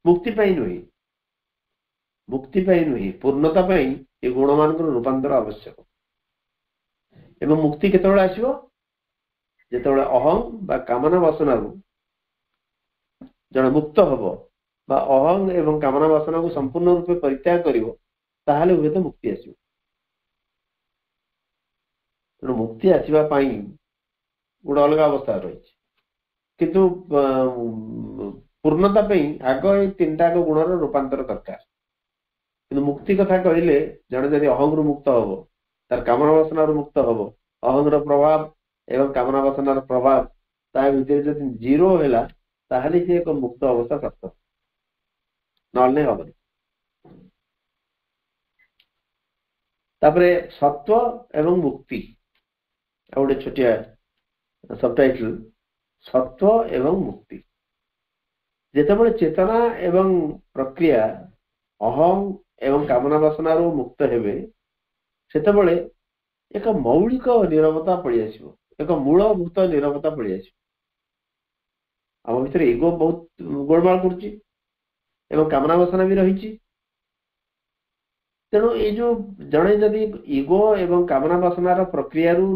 [SPEAKER 1] ମୁକ୍ତି ପାଇଁ ନୁହେଁ, ମୁକ୍ତି ପାଇଁ ନୁହେଁ, ପୂର୍ଣ୍ଣତା ପାଇଁ ଏ ଗୁଣମାନଙ୍କର ରୂପାନ୍ତର ଆବଶ୍ୟକ। ଏବଂ ମୁକ୍ତି କେତେବେଳେ ଆସିବ? ଯେତେବେଳେ ଅହଂ ବା କାମନା ବାସନାରୁ ଜଣେ ମୁକ୍ତ ହବ ବା ଅହଂ ଏବଂ କାମନା ବାସନାକୁ ସମ୍ପୂର୍ଣ୍ଣ ରୂପେ ପରିତ୍ୟାଗ କରିବ, ତାହେଲେ ହୁଏତ ମୁକ୍ତି ଆସିବ। ତେଣୁ ମୁକ୍ତି ଆସିବା ପାଇଁ ଗୋଟେ ଅଲଗା ଅବସ୍ଥା ରହିଛି, କିନ୍ତୁ ପୂର୍ଣ୍ଣତା ପାଇଁ ଆଗ ଏଇ ତିନିଟା ଗୁଣର ରୂପାନ୍ତର ଦରକାର। କିନ୍ତୁ ମୁକ୍ତି କଥା କହିଲେ ଜଣେ ଯଦି ଅହଂରୁ ମୁକ୍ତ ହବ, ତାର କାମନା ବାସନାରୁ ମୁକ୍ତ ହବ, ଅହଂର ପ୍ରଭାବ ଏବଂ କାମନା ବାସନାର ପ୍ରଭାବ ତା ଭିତରେ ଯଦି ଜିରୋ ହେଲା, ତାହେଲେ ସେ ଏକ ମୁକ୍ତ ଅବସ୍ଥା ପ୍ରାପ୍ତ, ନହେଲେ ହବନି। ତାପରେ ସତ୍ୱ ଏବଂ ମୁକ୍ତି, ଆଉ ଗୋଟେ ଛୋଟିଆ ସବଟାଇଟଲ, ସତ୍ୱ ଏବଂ ମୁକ୍ତି। ଯେତେବେଳେ ଚେତନା ଏବଂ ପ୍ରକ୍ରିୟା ଅହଂ ଏବଂ କାମନା ବାସନାରୁ ମୁକ୍ତ ହେବେ, ସେତେବେଳେ ଏକ ମୌଳିକ ନିରବତା ପଳେଇ ଆସିବ, ଏକ ମୂଳଭୂତ ନିରବତା ପଳେଇ ଆସିବ। ଆମ ଭିତରେ ଇଗୋ ବହୁତ ଗୋଳମାଳ କରୁଛି ଏବଂ କାମନା ବାସନା ବି ରହିଛି। ତେଣୁ ଏଇ ଯୋଉ ଜଣେ ଯଦି ଇଗୋ ଏବଂ କାମନା ବାସନାର ପ୍ରକ୍ରିୟାରୁ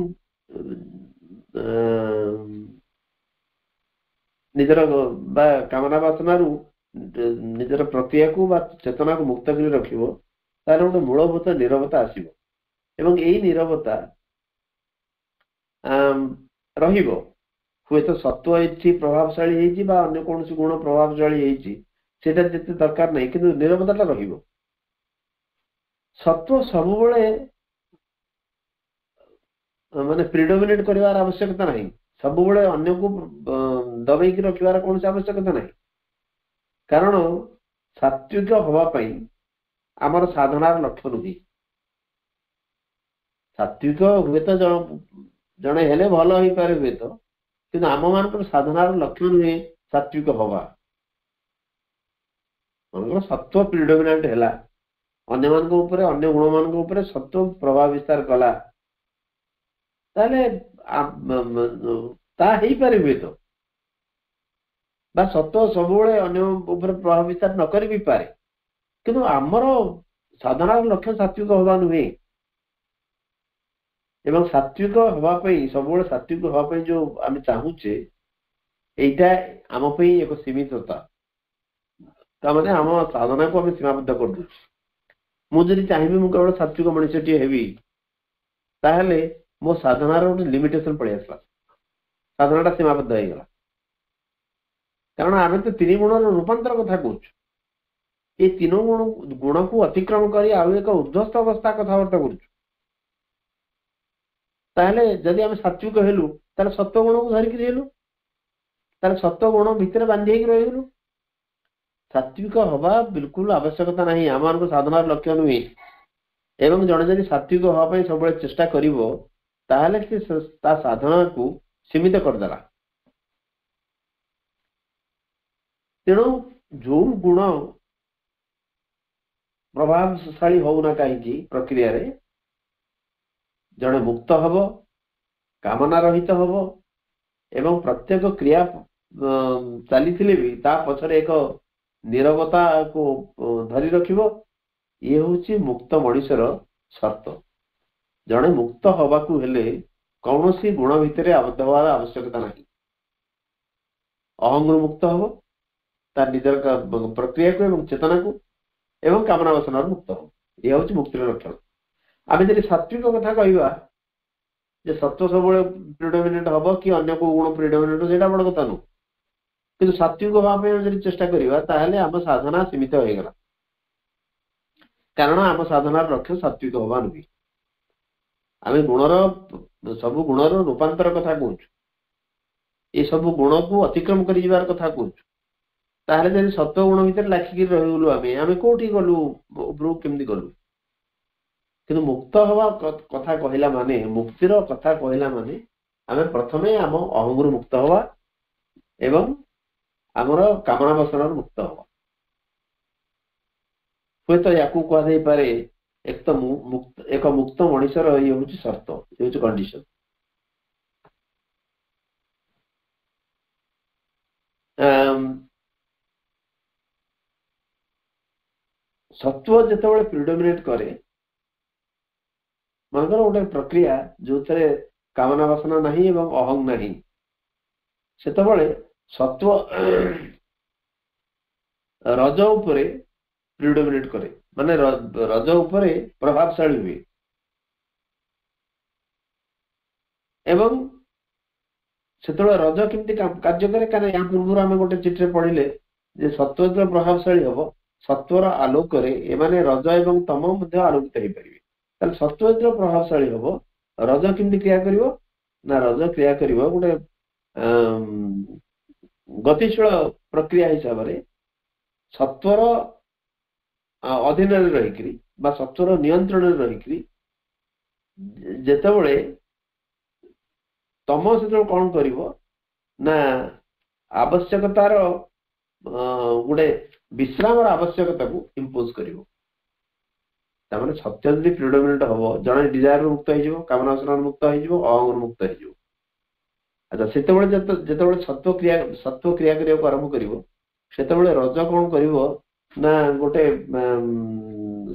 [SPEAKER 1] ନିଜର ବା କାମନା ବାସନାରୁ ନିଜର ପ୍ରକ୍ରିୟାକୁ ବା ଚେତନାକୁ ମୁକ୍ତ କରି ରଖିବ, ତାହେଲେ ଗୋଟେ ମୂଳଭୂତ ନିରବତା ଆସିବ ଏବଂ ଏଇ ନିରବତା ରହିବ। ହୁଏତ ସତ୍ୱ ଏଠି ପ୍ରଭାବଶାଳୀ ହେଇଛି ବା ଅନ୍ୟ କୌଣସି ଗୁଣ ପ୍ରଭାବଶାଳୀ ହେଇଛି, ସେଇଟା ଯେତେ ଦରକାର ନାହିଁ, କିନ୍ତୁ ନିରବତାଟା ରହିବ। ସତ୍ୱ ସବୁବେଳେ ମାନେ ପ୍ରିଡୋମିନେଟ କରିବାର ଆବଶ୍ୟକତା ନାହିଁ, ସବୁବେଳେ ଅନ୍ୟକୁ ଦବେଇକି ରଖିବାର କୌଣସି ଆବଶ୍ୟକତା ନାହିଁ। କାରଣ ସାତ୍ವಿକ ହବା ପାଇଁ ଆମର ସାଧନାର ଲକ୍ଷ୍ୟ ନୁହେଁ। ସାତ୍ବିକ ହୁଏତ ଜଣେ ହେଲେ ଭଲ ହେଇପାରେ ହୁଏତ, କିନ୍ତୁ ଆମ ମାନଙ୍କର ସାଧନାର ଲକ୍ଷ୍ୟ ନୁହେଁ ସାତ୍ବିକ ହବା। ମନେକର ସତ୍ୱ ପ୍ରିଡୋମିନାଣ୍ଟ ହେଲା, ଅନ୍ୟମାନଙ୍କ ଉପରେ ଅନ୍ୟ ଗୁଣମାନଙ୍କ ଉପରେ ସତ୍ୱ ପ୍ରଭାବ ବିସ୍ତାର କଲା, ତାହେଲେ ତା ହେଇପାରେ ହୁଏତ, ବା ସତ୍ୱ ସବୁବେଳେ ଅନ୍ୟ ଉପରେ ପ୍ରଭାବ ବିସ୍ତାର ନ କରି ବି ପାରେ, କିନ୍ତୁ ଆମର ସାଧନାର ଲକ୍ଷ୍ୟ ସାତ୍ବିକ ହବା ନୁହେଁ। ଏବଂ ସାତ୍ବିକ ହବା ପାଇଁ, ସବୁବେଳେ ସାତ୍ବିକ ହବା ପାଇଁ ଯୋଉ ଆମେ ଚାହୁଁଛେ, ଏଇଟା ଆମ ପାଇଁ ଏକ ସୀମିତତା। ତାମାନେ ଆମ ସାଧନାକୁ ଆମେ ସୀମାବଦ୍ଧ କରିଦଉଛୁ। ମୁଁ ଯଦି ଚାହିଁବି ମୁଁ କେବଳ ସାତ୍ବିକ ମଣିଷଟିଏ ହେବି, ତାହେଲେ ମୋ ସାଧନାର ଗୋଟେ ଲିମିଟେସନ ପଳେଇ ଆସିଲା, ସାଧନାଟା ସୀମାବଦ୍ଧ ହେଇଗଲା। କାରଣ ଆମେ ତ ତିନି ଗୁଣର ରୂପାନ୍ତର କଥା କହୁଛୁ, ଏଇ ତିନି ଗୁଣକୁ ଅତିକ୍ରମ କରି ଆଉ ଏକ ଉର୍ଦ୍ଧ୍ୱସ୍ଥ ଅବସ୍ଥା କଥାବାର୍ତ୍ତା କରୁଛୁ। ତାହେଲେ ଯଦି ଆମେ ସାତ୍ବିକ ହେଲୁ, ତାହେଲେ ସତ୍ୱ ଗୁଣକୁ ଧରିକିରି ହେଲୁ, ତାହେଲେ ସତ୍ୱ ଗୁଣ ଭିତରେ ବାନ୍ଧି ହେଇକି ରହିଗଲୁ। ସାତ୍ବିକ ହବା ବିଲକୁଲ ଆବଶ୍ୟକତା ନାହିଁ, ଆମମାନଙ୍କୁ ସାଧନାର ଲକ୍ଷ୍ୟ ନୁହେଁ। ଏବଂ ଜଣେ ଯଦି ସାତ୍ବିକ ହବା ପାଇଁ ସବୁବେଳେ ଚେଷ୍ଟା କରିବ, ତାହେଲେ ସେ ତା ସାଧନାକୁ ସୀମିତ କରିଦେଲା। ତେଣୁ ଯୋଉ ଗୁଣ ପ୍ରଭାବଶାଳୀ ହଉନା କାହିଁକି ପ୍ରକ୍ରିୟାରେ, ଜଣେ ମୁକ୍ତ ହବ, କାମନା ରହିତ ହବ, ଏବଂ ପ୍ରତ୍ୟେକ କ୍ରିୟା ଚାଲିଥିଲେ ବି ତା ପଛରେ ଏକ ନିରବତାକୁ ଧରି ରଖିବ। ଇଏ ହଉଛି ମୁକ୍ତ ମଣିଷର ସର୍ତ୍ତ। ଜଣେ ମୁକ୍ତ ହବାକୁ ହେଲେ କୌଣସି ଗୁଣ ଭିତରେ ଆବଦ୍ଧ ହବାର ଆବଶ୍ୟକତା ନାହିଁ। ଅହଂରୁ ମୁକ୍ତ ହବ, ତାର ନିଜର ପ୍ରକ୍ରିୟାକୁ ଏବଂ ଚେତନାକୁ ଏବଂ କାମନା ବାସନାରୁ ମୁକ୍ତ ହବ। ଇଏ ହଉଛି ମୁକ୍ତିର ଲକ୍ଷଣ। ଆମେ ଯଦି ସାତ୍ବିକ କଥା କହିବା ଯେ ସତ୍ୱ ସବୁବେଳେ ପ୍ରିଡୋମିନେଣ୍ଟ ହବ କି ଅନ୍ୟ କୋଉ ଗୁଣ ପ୍ରିଡୋମିନେଣ୍ଟ, ସେଇଟା ବଡ କଥା ନୁହଁ। କିନ୍ତୁ ସାତ୍ବିକ ହବା ପାଇଁ ଆମେ ଯଦି ଚେଷ୍ଟା କରିବା, ତାହେଲେ ଆମ ସାଧନା ସୀମିତ ହେଇଗଲା। କାରଣ ଆମ ସାଧନାର ଲକ୍ଷ୍ୟ ସାତ୍ବିକ ହବା ନୁହେଁ। ଆମେ ଗୁଣର ସବୁ ଗୁଣର ରୂପାନ୍ତର କଥା କହୁଛୁ, ଏ ସବୁ ଗୁଣକୁ ଅତିକ୍ରମ କରି ଯିବାର କଥା କହୁଛୁ। ତାହେଲେ ଯଦି ସତ୍ୱ ଗୁଣ ଭିତରେ ଲାଖିକି ରହିଗଲୁ, ଆମେ କୋଉଠି ଗଲୁ, ଉପରକୁ କେମିତି ଗଲୁ? କିନ୍ତୁ ମୁକ୍ତ ହବା କଥା କହିଲା ମାନେ, ମୁକ୍ତିର କଥା କହିଲା ମାନେ ଆମେ ପ୍ରଥମେ ଆମ ଅହଂରୁ ମୁକ୍ତ ହବା ଏବଂ ଆମର କାମନା ବାସନାରୁ ମୁକ୍ତ ହବା। ହୁଏତ ୟାକୁ କୁହାଯାଇପାରେ ଏକ ମୁକ୍ତ ମଣିଷର ଇଏ ହଉଛି ସର୍ତ୍ତ, ଇଏ ହଉଛି କଣ୍ଡିସନ। ସତ୍ୱ ଯେତେବେଳେ ପ୍ରିଡୋମିନେଟ କରେ, ମନେକର ଗୋଟେ ପ୍ରକ୍ରିୟା ଯୋଉଥିରେ କାମନା ବାସନା ନାହିଁ ଏବଂ ଅହଂ ନାହିଁ, ସେତେବେଳେ ସତ୍ୱ ରଜ ଉପରେ ପ୍ରିଡୋମିନେଟ କରେ, ମାନେ ରଜ ଉପରେ ପ୍ରଭାବଶାଳୀ ହୁଏ। ଏବଂ ସେତେବେଳେ ରଜ କେମିତି କାର୍ଯ୍ୟ କରେ? କାରଣ ଏହା ପୂର୍ବରୁ ଆମେ ଗୋଟେ ଚିଠିରେ ପଢିଲେ ଯେ ସତ୍ୱ ଯେତେବେଳେ ପ୍ରଭାବଶାଳୀ ହବ, ସତ୍ୱର ଆଲୋକରେ ଏମାନେ ରଜ ଏବଂ ତମ ମଧ୍ୟ ଆଲୋକିତ ହେଇପାରିବେ। ତାହେଲେ ସତ୍ୱ ଯେତେବେଳେ ପ୍ରଭାବଶାଳୀ ହବ, ରଜ କେମିତି କ୍ରିୟା କରିବ? ନା ରଜ କ୍ରିୟା କରିବ ଗୋଟେ ଗତିଶୀଳ ପ୍ରକ୍ରିୟା ହିସାବରେ, ସତ୍ୱର ଅଧୀନରେ ରହିକିରି ବା ସତ୍ୱର ନିୟନ୍ତ୍ରଣରେ ରହିକିରି। ଯେତେବେଳେ ତମ ସେତେବେଳେ କଣ କରିବ ନା ଆବଶ୍ୟକତାର ଗୋଟେ ବିଶ୍ରାମର ଆବଶ୍ୟକତାକୁ ଇମ୍ପୋଜ କରିବ। ତାମାନେ ସତ୍ୟ ଯଦି ପ୍ରିଡୋମିନେଣ୍ଟ ହବ, ଜଣେ ଡିଜାୟାରରୁ ମୁକ୍ତ ହେଇଯିବ, କାମନା ବାସନାରୁ ମୁକ୍ତ ହେଇଯିବ, ଅହଂରୁ ମୁକ୍ତ ହେଇଯିବ। ଆଚ୍ଛା, ସେତେବେଳେ ଯେତେବେଳେ ସତ୍ୱ କ୍ରିୟା କରିବାକୁ ଆରମ୍ଭ କରିବ, ସେତେବେଳେ ରଜ କଣ କରିବ ନା ଗୋଟେ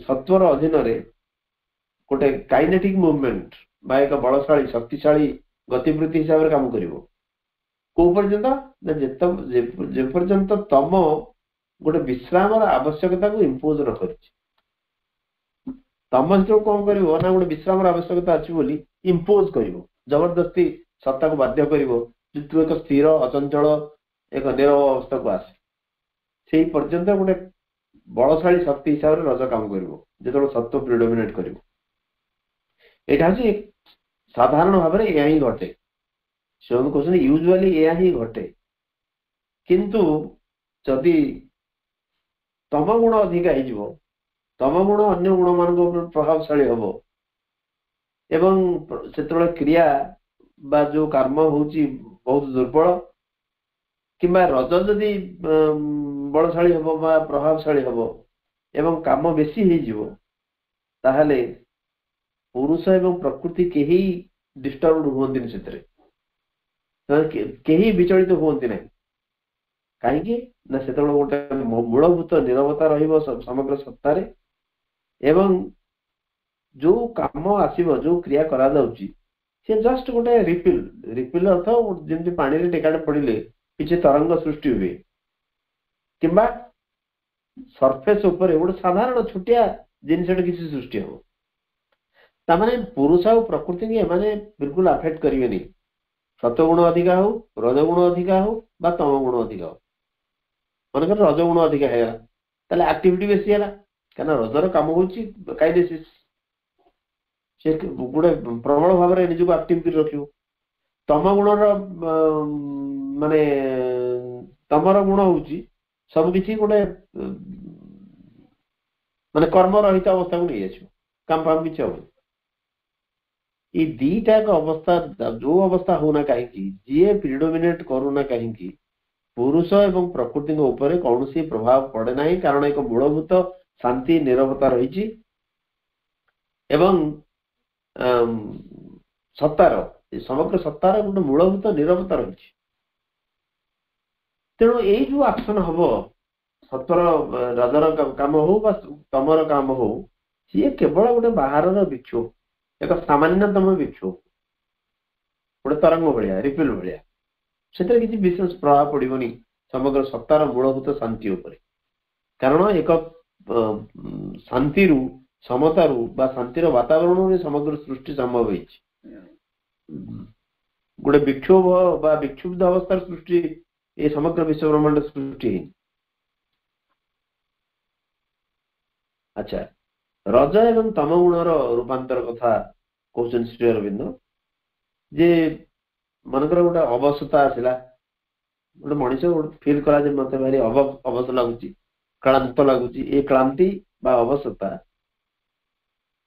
[SPEAKER 1] ସତ୍ୱର ଅଧୀନରେ ଗୋଟେ କାଇନେଟିକ ମୁଭମେଣ୍ଟ ବା ଏକ ବଳଶାଳୀ ଶକ୍ତିଶାଳୀ ଗତିବୃତ୍ତି ହିସାବରେ କାମ କରିବ। କୋଉ ପର୍ଯ୍ୟନ୍ତ? ନା ଯେପର୍ଯ୍ୟନ୍ତ ତମ ଗୋଟେ ବିଶ୍ରାମର ଆବଶ୍ୟକତାକୁ ଇମ୍ପୋଜ ନ କରିଛି। ତମ ସେତେବେଳେ କଣ କରିବ ନା ଗୋଟେ ବିଶ୍ରାମର ଆବଶ୍ୟକତା ଅଛି ବୋଲି ଇମ୍ପୋଜ କରିବ, ଜବରଦସ୍ତି ସତ୍ତାକୁ ବାଧ୍ୟ କରିବ ଯେ ତୁ ଏକ ସ୍ଥିର ଅଚଞ୍ଚଳ ଏକ ନିରବ ଅବସ୍ଥାକୁ ଆସେ। ସେଇ ପର୍ଯ୍ୟନ୍ତ ଗୋଟେ ବଳଶାଳୀ ଶକ୍ତି ହିସାବରେ ରଜ କାମ କରିବ, ଯେତେବେଳେ ସତ୍ୱ ପ୍ରିଡୋମିନେଟ କରିବ। ଏଇଟା ହଉଛି ସାଧାରଣ ଭାବରେ ଏହା ହିଁ ଘଟେ। ସେମାନେ କହୁଛନ୍ତି ୟୁଜୁଆଲି ଏହା ହିଁ ଘଟେ। କିନ୍ତୁ ଯଦି ତମ ଗୁଣ ଅଧିକା ହେଇଯିବ, ତମ ଗୁଣ ଅନ୍ୟ ଗୁଣମାନଙ୍କ ଉପରେ ପ୍ରଭାବଶାଳୀ ହବ, ଏବଂ ସେତେବେଳେ କ୍ରିୟା ବା ଯୋଉ କର୍ମ ହଉଛି ବହୁତ ଦୁର୍ବଳ, କିମ୍ବା ରଜ ଯଦି ବଳଶାଳୀ ହବ ବା ପ୍ରଭାବଶାଳୀ ହବ ଏବଂ କାମ ବେଶୀ ହେଇଯିବ, ତାହେଲେ ପୁରୁଷ ଏବଂ ପ୍ରକୃତି କେହି ଡିଷ୍ଟର୍ବ ହୁଅନ୍ତିନି, ସେଥିରେ କେହି ବିଚଳିତ ହୁଅନ୍ତି ନାହିଁ। କାହିଁକି ନା ସେତେବେଳେ ଗୋଟେ ମୂଳଭୂତ ନିରବତା ରହିବ ସମଗ୍ର ସତ୍ତାରେ, ଏବଂ ଯୋଉ କାମ ଆସିବ, ଯୋଉ କ୍ରିୟା କରାଯାଉଛି, ସେ ଜଷ୍ଟ ଗୋଟେ ରିପିଲ। ରିପିଲ ଅର୍ଥ ଯେମିତି ପାଣିରେ ଟେକାଟେ ପଡିଲେ କିଛି ତରଙ୍ଗ ସୃଷ୍ଟି ହୁଏ, କିମ୍ବା ସରଫେସ ଉପରେ ଗୋଟେ ସାଧାରଣ ଛୋଟିଆ ଜିନିଷଟେ କିଛି ସୃଷ୍ଟି ହବ। ତାମାନେ ପୁରୁଷ ଆଉ ପ୍ରକୃତିକି ଏମାନେ ବିଲକୁଲ ଆଫେକ୍ଟ କରିବେନି। ସତ୍ୱଗୁଣ ଅଧିକା ହଉ, ରଜଗୁଣ ଅଧିକା ହଉ ବା ତମ ଗୁଣ ଅଧିକା ହଉ। ମନେକର ରଜଗୁଣ ଅଧିକା ହେଇଗଲା, ତାହେଲେ ଆକ୍ଟିଭିଟି ବେଶୀ ହେଲା, କାହିଁକିନା ରଜର କାମ ହଉଛି କାଇନେସିସ୍, ସେ ଗୋଟେ ପ୍ରବଳ ଭାବରେ ନିଜକୁ ଆକ୍ଟିଭ କରି ରଖିବ। ତମ ଗୁଣର ମାନେ ତମର ଗୁଣ ହଉଛି ସବୁ କିଛି ଗୋଟେ ମାନେ କର୍ମ ରହିତ ଅବସ୍ଥାକୁ ନେଇ ଆସିବ, କାମ ଫାମ କିଛି ହବନି। ଏଇ ଦିଟା ଅବସ୍ଥା, ଯୋଉ ଅବସ୍ଥା ହଉନା କାହିଁକି, ଯିଏ ପ୍ରିଡୋମିନେଟ କରୁନା କାହିଁକି, ପୁରୁଷ ଏବଂ ପ୍ରକୃତିଙ୍କ ଉପରେ କୌଣସି ପ୍ରଭାବ ପଡେ ନାହିଁ, କାରଣ ଏକ ମୂଳଭୂତ ଶାନ୍ତି ନିରବତା ରହିଛି ଏବଂ ସତ୍ତାର, ସମଗ୍ର ସତ୍ତାର ଗୋଟେ ମୂଳଭୂତ ନିରବତା ରହିଛି। ତେଣୁ ଏଇ ଯୋଉ ଆକ୍ସନ ହବ, ସତ୍ୱର ରଜର କାମ ହଉ ବା ତମର କାମ ହଉ, ସିଏ କେବଳ ଗୋଟେ ବାହାରର ବିକ୍ଷୋଭ, ଏକ ସାମାନ୍ୟତମ ବିକ୍ଷୋଭ, ଗୋଟେ ତରଙ୍ଗ ଭଳିଆ, ରିପିଲ ଭଳିଆ। ସେଥିରେ କିଛି ବିଶେଷ ପ୍ରଭାବ ପଡିବନି ସମଗ୍ର ସତ୍ତାର ମୂଳଭୂତ ଶାନ୍ତି ଉପରେ, କାରଣ ଏକ ଶାନ୍ତିରୁ, ସମତାରୁ ବା ଶାନ୍ତିର ବାତାବରଣରୁ ସମଗ୍ର ସୃଷ୍ଟି ସମ୍ଭବ ହେଇଛି। ଗୋଟେ ବିକ୍ଷୋଭ ବା ବିକ୍ଷୁବ୍ଧ ଅବସ୍ଥାର ସୃଷ୍ଟି ଏ ସମଗ୍ର ବିଶ୍ୱ ବ୍ରହ୍ମାଣ୍ଡ ସୃଷ୍ଟି ହେଇନି। ଆଚ୍ଛା, ରଜ ଏବଂ ତମ ଗୁଣର ରୂପାନ୍ତର କଥା କହୁଛନ୍ତି ଶ୍ରୀ ଅରବିନ୍ଦ, ଯେ ମନେକର ଗୋଟେ ଅବସତା ଆସିଲା, ଗୋଟେ ମଣିଷ ଗୋଟେ ଫିଲ୍ କଲା ଯେ ମତେ ଭାରି ଅବସ ଲାଗୁଛି, କ୍ଳାନ୍ତ ଲାଗୁଛି। ଏ କ୍ଳାନ୍ତି ବା ଅବସତା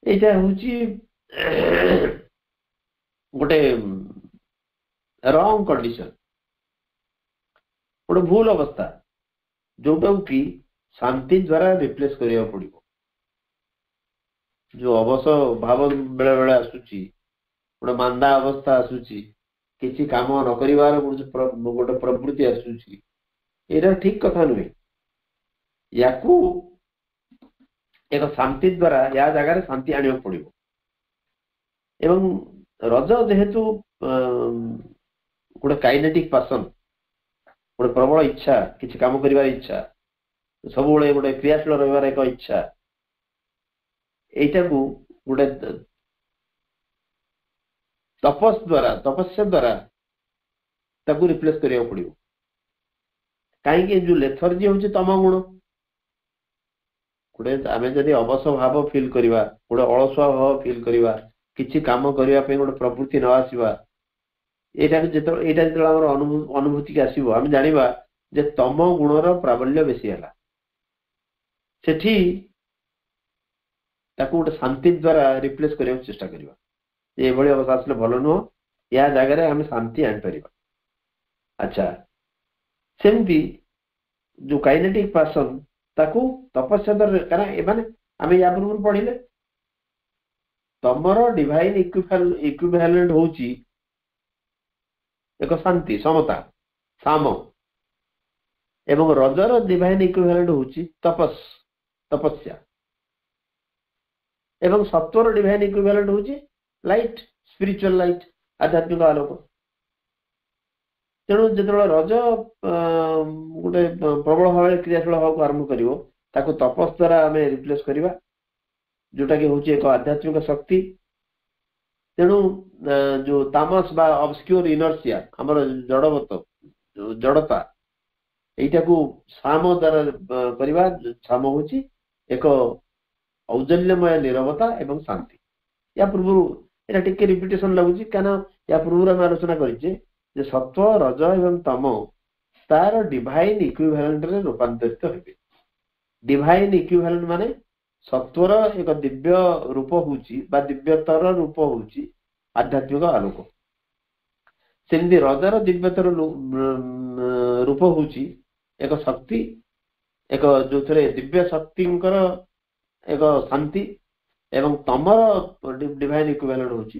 [SPEAKER 1] ଏଇଟା ହଉଛି ଗୋଟେ ରଙ୍ଗ କଣ୍ଡିସନ, ଗୋଟେ ଭୁଲ ଅବସ୍ଥା, ଯୋଉଟାକୁ କି ଶାନ୍ତି ଦ୍ଵାରା ରିପ୍ଲେସ କରିବାକୁ ପଡିବ। ଯୋଉ ଅବସ ଭାବ ବେଳେ ବେଳେ ଆସୁଛି, ଗୋଟେ ମାନ୍ଦା ଅବସ୍ଥା ଆସୁଛି, କିଛି କାମ ନ କରିବାର ଗୋଟେ ପ୍ରବୃତ୍ତି ଆସୁଛି, ଏଇଟା ଠିକ କଥା ନୁହେଁ। ୟାକୁ ଏକ ଶାନ୍ତି ଦ୍ଵାରା, ୟା ଜାଗାରେ ଶାନ୍ତି ଆଣିବାକୁ ପଡିବ। ଏବଂ ରଜ ଯେହେତୁ ଗୋଟେ କାଇନେଟିକ ପାସନ, ଗୋଟେ ପ୍ରବଳ ଇଚ୍ଛା, କିଛି କାମ କରିବାର ଇଚ୍ଛା, ସବୁବେଳେ ଗୋଟେ କ୍ରିୟାଶୀଳ ରହିବାର ଏକ ଇଚ୍ଛା, ଏଇଟାକୁ ଗୋଟେ ତପସ୍ ଦ୍ଵାରା, ତପସ୍ୟା ଦ୍ଵାରା ତାକୁ ରିପ୍ଲେସ କରିବାକୁ ପଡିବ। କାହିଁକି ଯୋଉ ଲେଥର୍ଜି ହଉଛି ତମ ଗୁଣ, ଗୋଟେ ଆମେ ଯଦି ଅବସ ଭାବ ଫିଲ୍ କରିବା, ଗୋଟେ ଅଳସୁଆ ଭାବ ଫିଲ୍ କରିବା, କିଛି କାମ କରିବା ପାଇଁ ଗୋଟେ ପ୍ରବୃତ୍ତି ନ ଆସିବା, ଏଇଟା ଯେତେବେଳେ ଆମର ଅନୁଭୂତିକି ଆସିବ, ଆମେ ଜାଣିବା ଯେ ତମ ଗୁଣର ପ୍ରାବଲ୍ୟ ବେଶୀ ହେଲା। ସେଠି ତାକୁ ଗୋଟେ ଶାନ୍ତି ଦ୍ଵାରା ରିପ୍ଲେସ କରିବାକୁ ଚେଷ୍ଟା କରିବା। ଏଭଳି ଅବସ୍ଥା ଆସିଲେ ଭଲ ନୁହଁ, ୟା ଜାଗାରେ ଆମେ ଶାନ୍ତି ଆଣିପାରିବା। ଆଚ୍ଛା, ସେମିତି ଯୋଉ କାଇନେଟିକ ପାସନ, ତାକୁ ତପସ୍ୟା ଦ୍ୱାରା, କାରଣ ଏମାନେ ଆମେ ୟା ପୂର୍ବରୁ ପଢିଲେ ତମର ଡିଭାଇନ ଇକ୍ୱିଭାଲେଣ୍ଟ ହଉଛି ଏକ ଶାନ୍ତି, ସମତା, ସାମ, ଏବଂ ରଜର ଡିଭାଇନ ଇକ୍ୱିଭାଲେଣ୍ଟ ହଉଛି ତପସ୍, ତପସ୍ୟା, ଏବଂ ସତ୍ୱର ଡିଭାଇନ ଇକ୍ୱିଭାଲେଣ୍ଟ ହଉଛି ଲାଇଟ, ସ୍ପିରିଚୁଆଲ ଲାଇଟ, ଆଧ୍ୟାତ୍ମିକ ଆଲୋକ। ତେଣୁ ଯେତେବେଳେ ରଜ ଗୋଟେ ପ୍ରବଳ ଭାବରେ କ୍ରିୟାଶୀଳ ହେବାକୁ ଆରମ୍ଭ କରିବ, ତାକୁ ତପସ୍ ଦ୍ଵାରା ଆମେ ରିପ୍ଲେସ କରିବା, ଯୋଉଟା କି ହଉଛି ଏକ ଆଧ୍ୟାତ୍ମିକ ଶକ୍ତି। ତେଣୁ ଯୋଉ ତାମସ ବା ଅବସ୍କ୍ୟୁର ଇନର୍ସିଆ, ଆମର ଜଡବତ ଜଡତା, ଏଇଟାକୁ ସାମ ଦ୍ଵାରା କରିବା। ସାମ ହଉଛି ଏକ ଔଜଲ୍ୟମୟ ନିରବତା ଏବଂ ଶାନ୍ତି। ୟା ପୂର୍ବରୁ ଏଇଟା ଟିକେ ରିପିଟେସନ ଲାଗୁଛି, କାରଣ ୟା ପୂର୍ବରୁ ଆମେ ଆଲୋଚନା କରିଛେ ଯେ ସତ୍ୱ, ରଜ ଏବଂ ତମ ତାର ଡିଭାଇନ ଇକ୍ୱିଭାଲେଣ୍ଟରେ ରୂପାନ୍ତରିତ ହେବେ। ଡିଭାଇନ ଇକ୍ୱିଭାଲେଣ୍ଟ ମାନେ ସତ୍ୱର ଏକ ଦିବ୍ୟ ରୂପ ହଉଛି ବା ଦିବ୍ୟତର ରୂପ ହଉଛି ଆଧ୍ୟାତ୍ମିକ ଆଲୋକ। ସେମିତି ରଜର ଦିବ୍ୟତର ରୂପ ହଉଛି ଏକ ଶକ୍ତି, ଏକ ଯୋଉଥିରେ ଦିବ୍ୟ ଶକ୍ତିଙ୍କର ଏକ ଶାନ୍ତି, ଏବଂ ତମର ଡିଭାଇନ ଇକ୍ୱିଭାଲେଣ୍ଟ ହଉଛି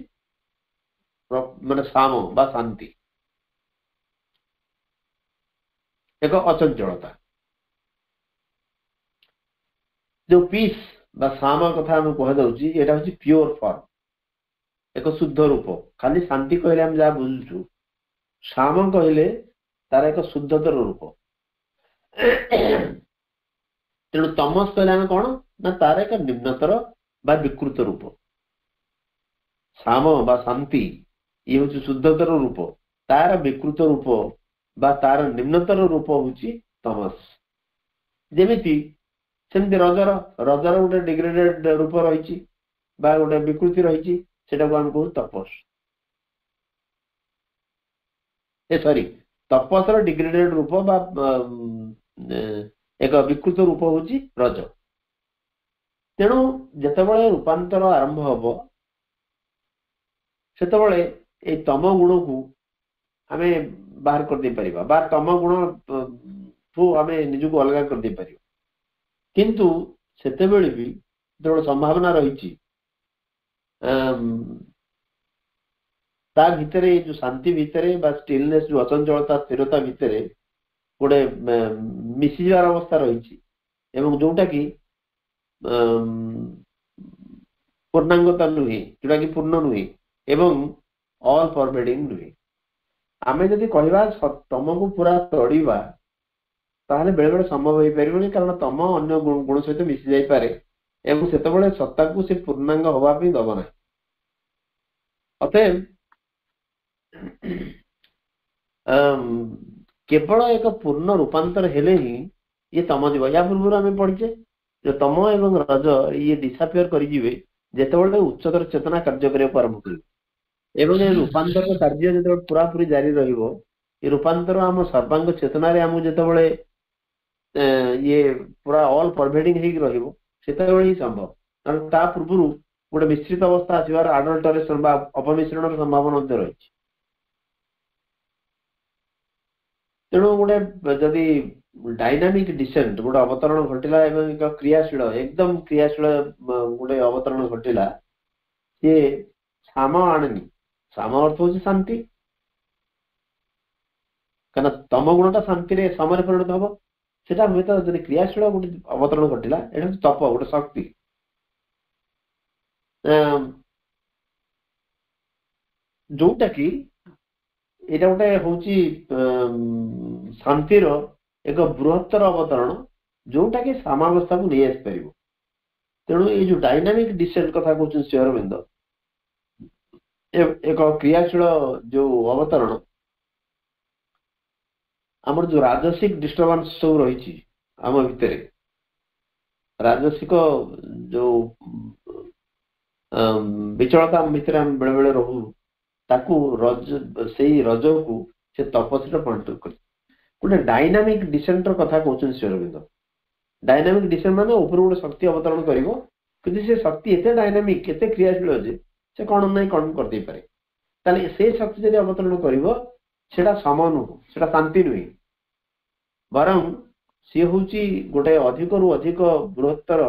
[SPEAKER 1] ମାନେ ସାମ ବା ଶାନ୍ତି। ଏକ ଅଚଞ୍ଚଳତା। ଯୋଉ ପିସ୍ ବା ସାମ କଥା ଆମେ କୁହାଯାଉଛି, ଏଇଟା ହଉଛି ପିଓର ଫର୍ମ, ଏକ ଶୁଦ୍ଧ ରୂପ। ଖାଲି ଶାନ୍ତି କହିଲେ ଆମେ ଯାହା ବୁଝୁଛୁ, ସାମ କହିଲେ ତାର ଏକ ଶୁଦ୍ଧତର ରୂପ। ତେଣୁ ତମସ କହିଲେ ଆମେ କଣ ନା ତାର ଏକ ନିମ୍ନତର ବା ବିକୃତ ରୂପ। ସାମ ବା ଶାନ୍ତି ଇଏ ହଉଛି ଶୁଦ୍ଧତର ରୂପ, ତାର ବିକୃତ ରୂପ ବା ତାର ନିମ୍ନତର ରୂପ ହଉଛି ତମସ। ଯେମିତି ସେମିତି ରଜର ରଜର ଗୋଟେ ଡିଗ୍ରେଡେଡ ରୂପ ରହିଛି ବା ଗୋଟେ ବିକୃତି ରହିଛି, ସେଟାକୁ ଆମେ କହୁ ତପସ। ଏ ସରି, ତପସର ଡିଗ୍ରେଡେଡ ରୂପ ବା ଏକ ବିକୃତ ରୂପ ହଉଛି ରଜ। ତେଣୁ ଯେତେବେଳେ ରୂପାନ୍ତର ଆରମ୍ଭ ହବ, ସେତେବେଳେ ଏଇ ତମ ଗୁଣକୁ ଆମେ ବାହାର କରିଦେଇ ପାରିବା ବା ତମ ଗୁଣଠୁ ଆମେ ନିଜକୁ ଅଲଗା କରିଦେଇ ପାରିବା। କିନ୍ତୁ ସେତେବେଳେ ବି ଯେତେବେଳେ ସମ୍ଭାବନା ରହିଛି, ତା ଭିତରେ ଏଇ ଯୋଉ ଶାନ୍ତି ଭିତରେ ବା ଷ୍ଟିଲନେସ୍, ଯୋଉ ଅଚଞ୍ଚଳତା ସ୍ଥିରତା ଭିତରେ ଗୋଟେ ମିଶିଯିବାର ଅବସ୍ଥା ରହିଛି, ଏବଂ ଯୋଉଟା କି ପୂର୍ଣ୍ଣାଙ୍ଗତା ନୁହେଁ, ଯୋଉଟା କି ପୂର୍ଣ୍ଣ ନୁହେଁ ଏବଂ ଅଲ୍ ପରଭେଡିଂ ନୁହେଁ। ଆମେ ଯଦି କହିବା ତମକୁ ପୁରା ତଡ଼ିବା, ତାହେଲେ ବେଳେ ବେଳେ ସମ୍ଭବ ହେଇପାରିବନି, କାରଣ ତମ ଅନ୍ୟ ଗୁଣ ସହିତ ମିଶି ଯାଇପାରେ ଏବଂ ସେତେବେଳେ ସତ୍ତାକୁ ସେ ପୂର୍ଣ୍ଣାଙ୍ଗ ହବା ପାଇଁ ଦବ ନାହିଁ। ଅତଏବ କେବଳ ଏକ ପୂର୍ଣ୍ଣ ରୂପାନ୍ତର ହେଲେ ହିଁ ଇଏ ତମ ଯିବ। ୟା ପୂର୍ବରୁ ଆମେ ପଢିଛେ ଯେ ତମ ଏବଂ ରଜ ଇଏ ଡିସାପିୟର କରିଯିବେ ଯେତେବେଳେ ଉଚ୍ଚତର ଚେତନା କାର୍ଯ୍ୟ କରିବାକୁ ଆରମ୍ଭ କରିବ, ଏବଂ ଏ ରୂପାନ୍ତର କାର୍ଯ୍ୟ ଯେତେବେଳେ ପୁରାପୁରି ଜାରି ରହିବ, ଏ ରୂପାନ୍ତର ଆମ ସର୍ବାଙ୍ଗ ଚେତନାରେ ଆମକୁ ଯେତେବେଳେ ଇଏ ପୁରା ଅଲ୍ ପରଭେଡିଂ ହେଇକି ରହିବ, ସେତେବେଳେ ହିଁ ସମ୍ଭବ। କାରଣ ତା ପୂର୍ବରୁ ଗୋଟେ ମିଶ୍ରିତ ଅବସ୍ଥା ଆସିବାର, ଆଡଲ୍ଟରେସନ ବା ଅପମିଶ୍ରଣର ସମ୍ଭାବନା ମଧ୍ୟ ରହିଛି। ତେଣୁ ଗୋଟେ ଯଦି ଡାଇନାମିକ ଡିସେଣ୍ଟ, ଗୋଟେ ଅବତରଣ ଘଟିଲା ଏବଂ ଏକ କ୍ରିୟାଶୀଳ, ଏକଦମ କ୍ରିୟାଶୀଳ ଗୋଟେ ଅବତରଣ ଘଟିଲା, ସିଏ ସାମ ଆଣେନି। ସାମ ଅର୍ଥ ହଉଛି ଶାନ୍ତି, କାହିଁକିନା ତମ ଗୁଣଟା ଶାନ୍ତିରେ ସମରେ ପରିଣତ ହବ। ସେଟା ହୁଏତ ଯଦି କ୍ରିୟାଶୀଳ ଗୋଟେ ଅବତରଣ ଘଟିଲା, ଏଇଟା ହଉଛି ତପ, ଗୋଟେ ଶକ୍ତି। ଯୋଉଟା କି ଏଇଟା ଗୋଟେ ହଉଛି ଶାନ୍ତିର ଏକ ବୃହତ୍ତର ଅବତରଣ, ଯୋଉଟା କି ସାମାବସ୍ଥାକୁ ନେଇ ଆସିପାରିବ। ତେଣୁ ଏଇ ଯୋଉ ଡାଇନାମିକ ଡିସେଣ୍ଟ କଥା କହୁଛନ୍ତି ଶ୍ରୀ ଅରବିନ୍ଦ, ଏକ କ୍ରିୟାଶୀଳ ଯୋଉ ଅବତରଣ, ଆମର ଯୋଉ ରାଜସିକ ଡିଷ୍ଟର୍ବାନ୍ସ ସବୁ ରହିଛି ଆମ ଭିତରେ, ରାଜସିକ ଯୋଉ ବିଚଳତା ଆମ ଭିତରେ ଆମେ ବେଳେ ବେଳେ ରହୁ, ତାକୁ ରଜ, ସେଇ ରଜକୁ ସେ ତପସ୍ୟାରେ ପରିଣତ କରେ। ଗୋଟେ ଡାଇନାମିକ ଡିସେଣ୍ଟର କଥା କହୁଛନ୍ତି ଶ୍ରୀ ଅରବିନ୍ଦ। ଡାଇନାମିକ ଡିସେଣ୍ଟ ମାନେ ଉପରୁ ଗୋଟେ ଶକ୍ତି ଅବତରଣ କରିବ, କିନ୍ତୁ ସେ ଶକ୍ତି ଏତେ ଡାଇନାମିକ, ଏତେ କ୍ରିୟାଶୀଳ ଯେ ସେ କଣ ନାହିଁ କଣ କରିଦେଇପାରେ। ତାହେଲେ ସେ ଶକ୍ତି ଯଦି ଅବତରଣ କରିବ, ସେଟା ସମ ନୁହଁ, ସେଟା ଶାନ୍ତି ନୁହେଁ, ବରଂ ସିଏ ହଉଛି ଗୋଟେ ଅଧିକରୁ ଅଧିକ ବୃହତ୍ତର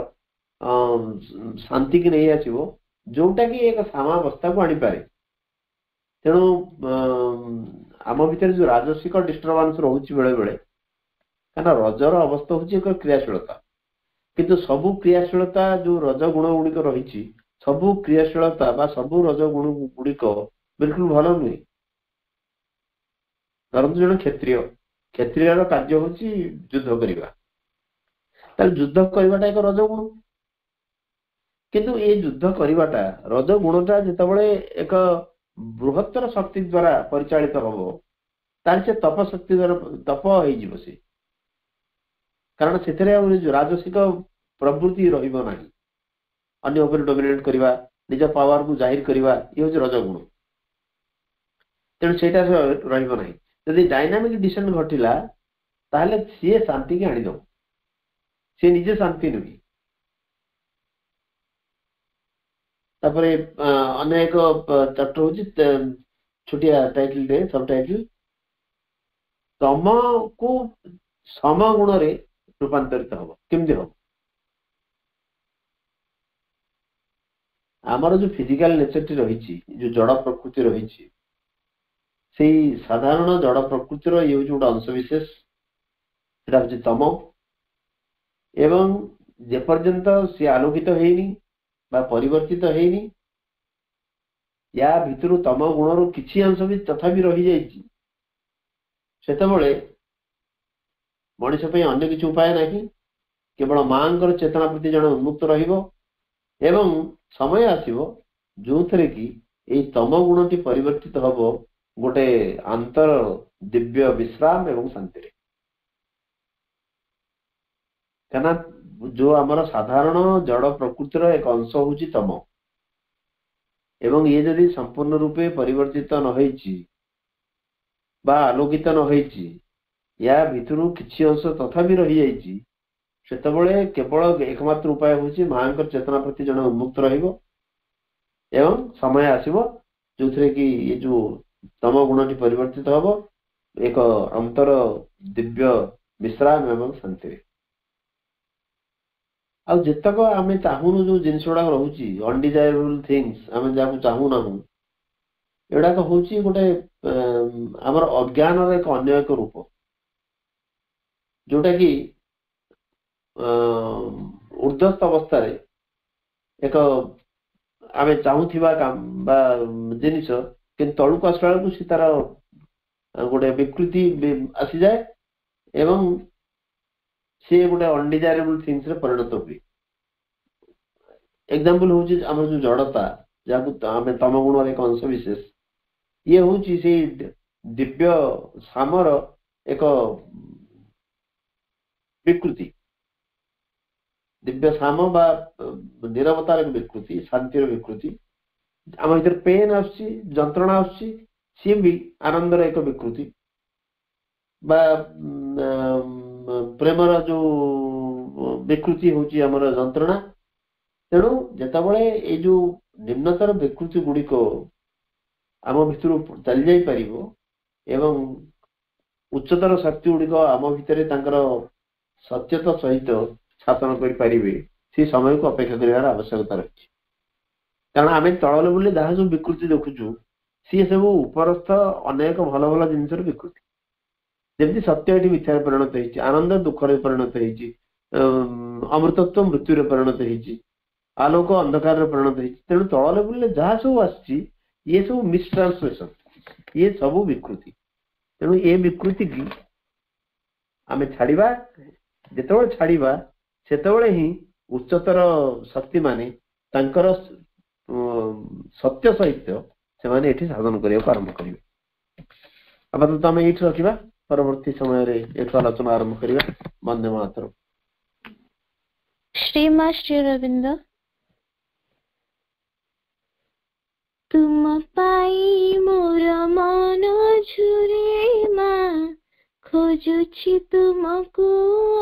[SPEAKER 1] ଶାନ୍ତିକି ନେଇ ଆସିବ, ଯୋଉଟା କି ଏକ ସାମାବସ୍ଥାକୁ ଆଣିପାରେ। ତେଣୁ ଆମ ଭିତରେ ଯୋଉ ରାଜସିକ ଡିଷ୍ଟର୍ବାନ୍ସ ରହୁଛି ବେଳେ ବେଳେ, କାରଣ ରଜର ଅବସ୍ଥା ହଉଛି ଏକ କ୍ରିୟାଶୀଳତା, କିନ୍ତୁ ସବୁ କ୍ରିୟାଶୀଳତା ଯୋଉ ରଜ ଗୁଣ ଗୁଡିକ ରହିଛି, ସବୁ କ୍ରିୟାଶୀଳତା ବା ସବୁ ରଜ ଗୁଣ ଗୁଡିକ ବିଲକୁଲ ଭଲ ନୁହେଁ। ଧରନ୍ତୁ ଜଣେ କ୍ଷତ୍ରିୟ, କ୍ଷତ୍ରିୟର କାର୍ଯ୍ୟ ହଉଛି ଯୁଦ୍ଧ କରିବା, ତାହେଲେ ଯୁଦ୍ଧ କରିବାଟା ଏକ ରଜ ଗୁଣ। କିନ୍ତୁ ଏ ଯୁଦ୍ଧ କରିବାଟା, ରଜ ଗୁଣଟା ଯେତେବେଳେ ଏକ ବୃହତ୍ତର ଶକ୍ତି ଦ୍ଵାରା ପରିଚାଳିତ ହବ, ତାହେଲେ ସେ ତପ ଶକ୍ତି ଦ୍ଵାରା ତପ ହେଇଯିବ ସେ, କାରଣ ସେଥିରେ ଆଉ ରାଜସିକ ପ୍ରବୃତ୍ତି ରହିବ ନାହିଁ। ଅନ୍ୟ ଉପରେ ଡୋମିନେଟ କରିବା, ନିଜ ପାୱାରକୁ ଜାହିର କରିବା, ଇଏ ହଉଛି ରଜଗୁଣ। ତେଣୁ ସେଇଟା ରହିବ ନାହିଁ। ଯଦି ଡାଇନାମିକ ଡିସେଣ୍ଟ ଘଟିଲା, ତାହେଲେ ସିଏ ଶାନ୍ତିକି ଆଣିଦବ, ସିଏ ନିଜେ ଶାନ୍ତି ନୁହେଁ। ତାପରେ ଅନ୍ୟ ଏକ ଚାପ୍ଟର ହଉଛି ଛୋଟିଆ ଟାଇଟଲ ଟେ, ସବ ଟାଇଟଲ, ତମକୁ ସମ ଗୁଣରେ ରୂପାନ୍ତରିତ ହବ। କେମିତି ହବ? ଆମର ଯୋଉ ଫିଜିକାଲ ନେଚରଟି ରହିଛି, ଯୋଉ ଜଡ ପ୍ରକୃତି ରହିଛି, ସେଇ ସାଧାରଣ ଜଡ ପ୍ରକୃତିର ଇଏ ହଉଛି ଗୋଟେ ଅଂଶ ବିଶେଷ। ସେଟା ହଉଛି ତମ। ଏବଂ ଯେପର୍ଯ୍ୟନ୍ତ ସିଏ ଆଲୋକିତ ହେଇନି ବା ପରିବର୍ତ୍ତିତ ହେଇନି, ୟା ଭିତରୁ ତମ ଗୁଣରୁ କିଛି ଅଂଶ ବି ତଥାପି ରହିଯାଇଛି, ସେତେବେଳେ ମଣିଷ ପାଇଁ ଅନ୍ୟ କିଛି ଉପାୟ ନାହିଁ, କେବଳ ମାଙ୍କର ଚେତନା ପ୍ରତି ଜଣେ ଉନ୍ମୁକ୍ତ ରହିବ। ଏବଂ ସମୟ ଆସିବ ଯୋଉଥିରେ କି ଏଇ ତମ ଗୁଣଟି ପରିବର୍ତ୍ତିତ ହବ ଗୋଟେ ଆନ୍ତର ଦିବ୍ୟ ବିଶ୍ରାମ ଏବଂ ଶାନ୍ତିରେ। କାହିଁକିନା ଯୋଉ ଆମର ସାଧାରଣ ଜଡ଼ ପ୍ରକୃତିର ଏକ ଅଂଶ ହଉଛି ତମ, ଏବଂ ଇଏ ଯଦି ସମ୍ପୂର୍ଣ୍ଣ ରୂପେ ପରିବର୍ତ୍ତିତ ନ ହେଇଛି ବା ଆଲୋକିତ ନ ହେଇଛି, ୟା ଭିତରୁ କିଛି ଅଂଶ ତଥାପି ରହିଯାଇଛି, ସେତେବେଳେ କେବଳ ଏକମାତ୍ର ଉପାୟ ହଉଛି ମାଙ୍କର ଚେତନା ପ୍ରତି ଜଣେ ଉନ୍ମୁକ୍ତ ରହିବ। ଏବଂ ସମୟ ଆସିବ ଯୋଉଥିରେ କି ଏ ଯୋଉ ତମ ଗୁଣଟି ପରିବର୍ତ୍ତିତ ହବ ଏକ ଅନ୍ତର ଦିବ୍ୟ ବିଶ୍ରାମ ଏବଂ ଶାନ୍ତିରେ। ଆଉ ଯେତକ ଆମେ ଚାହୁଁନୁ, ଯୋଉ ଜିନିଷ ଗୁଡାକ ରହୁଛି ଅନଡିଜାୟାରେବଲ ଥିଙ୍ଗସ, ଆମେ ଯାହାକୁ ଚାହୁଁନାହୁଁ, ଏଗୁଡାକ ହଉଛି ଗୋଟେ ଆମର ଅଜ୍ଞାନର ଏକ ଅନ୍ୟ ଏକ ରୂପ, ଯୋଉଟା କି ଉର୍ଦ୍ଧସ୍ଥ ଅବସ୍ଥାରେ ଏକ ଆମେ ଚାହୁଁଥିବା ବା ଜିନିଷ, କିନ୍ତୁ ତଳକୁ ଆସିଲା ବେଳକୁ ସେ ତାର ଗୋଟେ ବିକୃତି ଆସିଯାଏ ଏବଂ ସିଏ ଗୋଟେ ଅନଡିଜାୟାରେବଲ ଥିଙ୍ଗସରେ ପରିଣତ ହୁଏ। ଏକ୍ସାମ୍ପଲ ହଉଛି ଆମର ଯୋଉ ଜଡତା, ଯାହାକୁ ଆମେ ତମ ଗୁଣର ଏକ ଅଂଶ ବିଶେଷ, ଇଏ ହଉଛି ସେଇ ଦିବ୍ୟ ସାମର ଏକ ବିକୃତି, ଦିବ୍ୟ ସାମ ବା ନିରବତାର ଏକ ବିକୃତି, ଶାନ୍ତିର ବିକୃତି। ଆମ ଭିତରେ ପେନ୍ ଆସୁଛି, ଯନ୍ତ୍ରଣା ଆସୁଛି, ସିଏ ବି ଆନନ୍ଦର ଏକ ବିକୃତି ବା ପ୍ରେମର ଯୋଉ ବିକୃତି ହଉଛି ଆମର ଯନ୍ତ୍ରଣା। ତେଣୁ ଯେତେବେଳେ ଏଇ ଯୋଉ ନିମ୍ନତର ବିକୃତି ଗୁଡିକ ଆମ ଭିତରୁ ଚାଲି ଯାଇପାରିବ ଏବଂ ଉଚ୍ଚତର ଶକ୍ତି ଗୁଡିକ ଆମ ଭିତରେ ତାଙ୍କର ସତ୍ୟତା ସହିତ ସ୍ଥାପନ କରିପାରିବେ, ସେ ସମୟକୁ ଅପେକ୍ଷା କରିବାର ଆବଶ୍ୟକତା ରହିଛି। କାରଣ ଆମେ ତଳ ଲେବୁଲରେ ଯାହା ସବୁ ବିକୃତି ଦେଖୁଛୁ, ସିଏ ସବୁ ଉପରସ୍ଥ ଅନେକ ଭଲ ଭଲ ଜିନିଷର ବିକୃତି। ଯେମିତି ସତ୍ୟ ଏଠି ମିଥ୍ୟାରେ ପରିଣତ ହେଇଛି, ଆନନ୍ଦ ଦୁଃଖରେ ପରିଣତ ହେଇଛି, ଅମୃତତ୍ୱ ମୃତ୍ୟୁରେ ପରିଣତ ହେଇଛି, ଆଲୋକ ଅନ୍ଧକାରରେ ପରିଣତ ହେଇଛି। ତେଣୁ ତଳ ଲେବୁଲରେ ଯାହା ସବୁ ଆସିଛି ଇଏ ସବୁ ମିସଟ୍ରାନ୍ସଲେସନ, ଇଏ ସବୁ ବିକୃତି। ତେଣୁ ଏ ବିକୃତି କି ଆମେ ଛାଡିବା, ଯେତେବେଳେ ଛାଡିବା ସେତେବେଳେ ହିଁ ଉଚ୍ଚତର ଶକ୍ତି ମାନେ ତାଙ୍କର ସତ୍ୟ ସହିତ ସେମାନେ ଏଠି ସାଧନ କରିବାକୁ ଆରମ୍ଭ କରିବେ। ଆପାତତଃ ଆମେ ଏଇଠି ରଖିବା, ପରବର୍ତ୍ତୀ ସମୟରେ ଏଠୁ ଆଲୋଚନା ଆରମ୍ଭ କରିବା। ବନ୍ଦେ ମାତରମ୍।
[SPEAKER 2] ଶ୍ରୀ ମା ଶ୍ରୀ ଅରବିନ୍ଦ। ତୁମ ପାଇଁ ମୋର ମନ ଝୁରେ ମା, ଖୋଜୁଛି ତୁମକୁ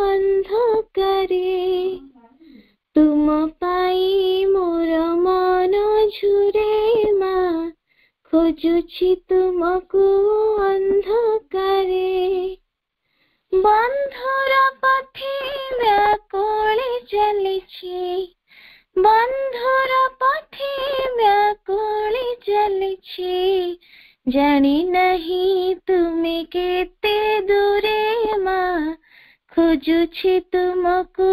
[SPEAKER 2] ଅନ୍ଧକାରେ। ତୁମ ପାଇଁ ମୋର ମନ ଝୁରେ ମା, ଖୋଜୁଛି ତୁମକୁ ଅନ୍ଧକାରେ। ବନ୍ଧୁର ପଥେ ବ୍ୟାକୁଳି ଚାଲିଛି, ବନ୍ଧୁର ପଥେ ବ୍ୟାକୁଳି ଚାଲିଛି, ଜାଣି ନାହିଁ ତୁମେ କେତେ ଦୂରେ ମା, ଖୋଜୁଛି ତୁମକୁ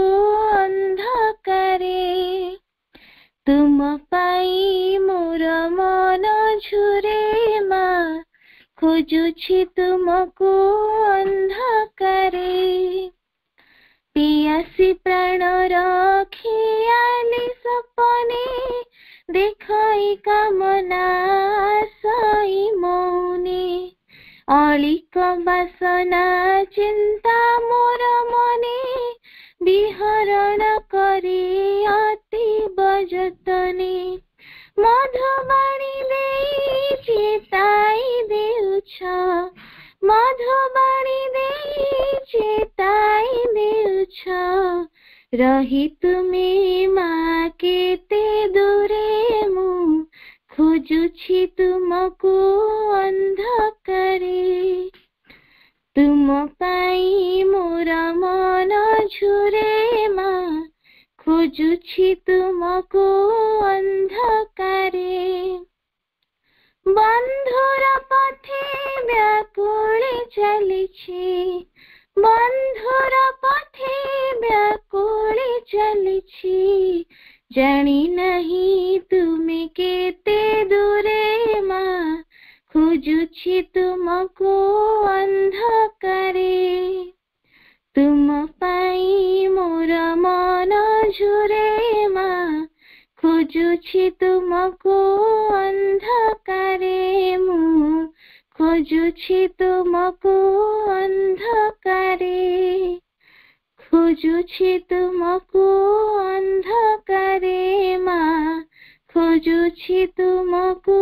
[SPEAKER 2] ଅନ୍ଧକାରେ। ତୁମ ପାଇଁ ମୋର ମନ ଝୁରେ ମା, ଖୋଜୁଛି ତୁମକୁ ଅନ୍ଧକାରେ। ପିଆସି ପ୍ରାଣର ଖିଆଲି ସପନେ ଦେଖଇ କାମନା ସଇ ମୌନେ, ଅଳିକ ବାସନା ଚିନ୍ତା ମୋର ମନେ ବିହରଣ କରି ଅତୀବ ଯତନେ। ମଧୁବାଣୀ ଦେଇ ଚେତାଇ ଦେଉଛ, ମଧୁବାଣୀ ଦେଇ ଚେତାଇ ଦେଉଛ, ରହି ତୁମେ ମା କେତେ ଦୂରେ, ମୁଁ ଖୋଜୁଛି ତୁମକୁ ଅନ୍ଧକାରେ। ତୁମ ପାଇଁ ମୋର ମନ ଝୁରେ ମା, ଖୋଜୁଛି ତୁମକୁ ଅନ୍ଧକାରେ। ବନ୍ଧୁର ପଥେ ବ୍ୟାକୁଳି ଚାଲିଛି, ବନ୍ଧୁର ପଥେ ବ୍ୟାକୁଳି ଚାଲିଛି, ଜାଣି ନାହିଁ ତୁମେ କେତେ ଦୂରେ ମା, ଖୋଜୁଛି ତୁମକୁ ଅନ୍ଧକାରେ। ତୁମ ପାଇଁ ମୋର ମନ ଝୁରେ ମା, ଖୋଜୁଛି ତୁମକୁ ଅନ୍ଧକାରେ, ମୁଁ ଖୋଜୁଛି ତୁମକୁ ଅନ୍ଧକାରେ, ଖୋଜୁଛି ତୁମକୁ ଅନ୍ଧକାରେ ମା, ଖୋଜୁଛି ତୁମକୁ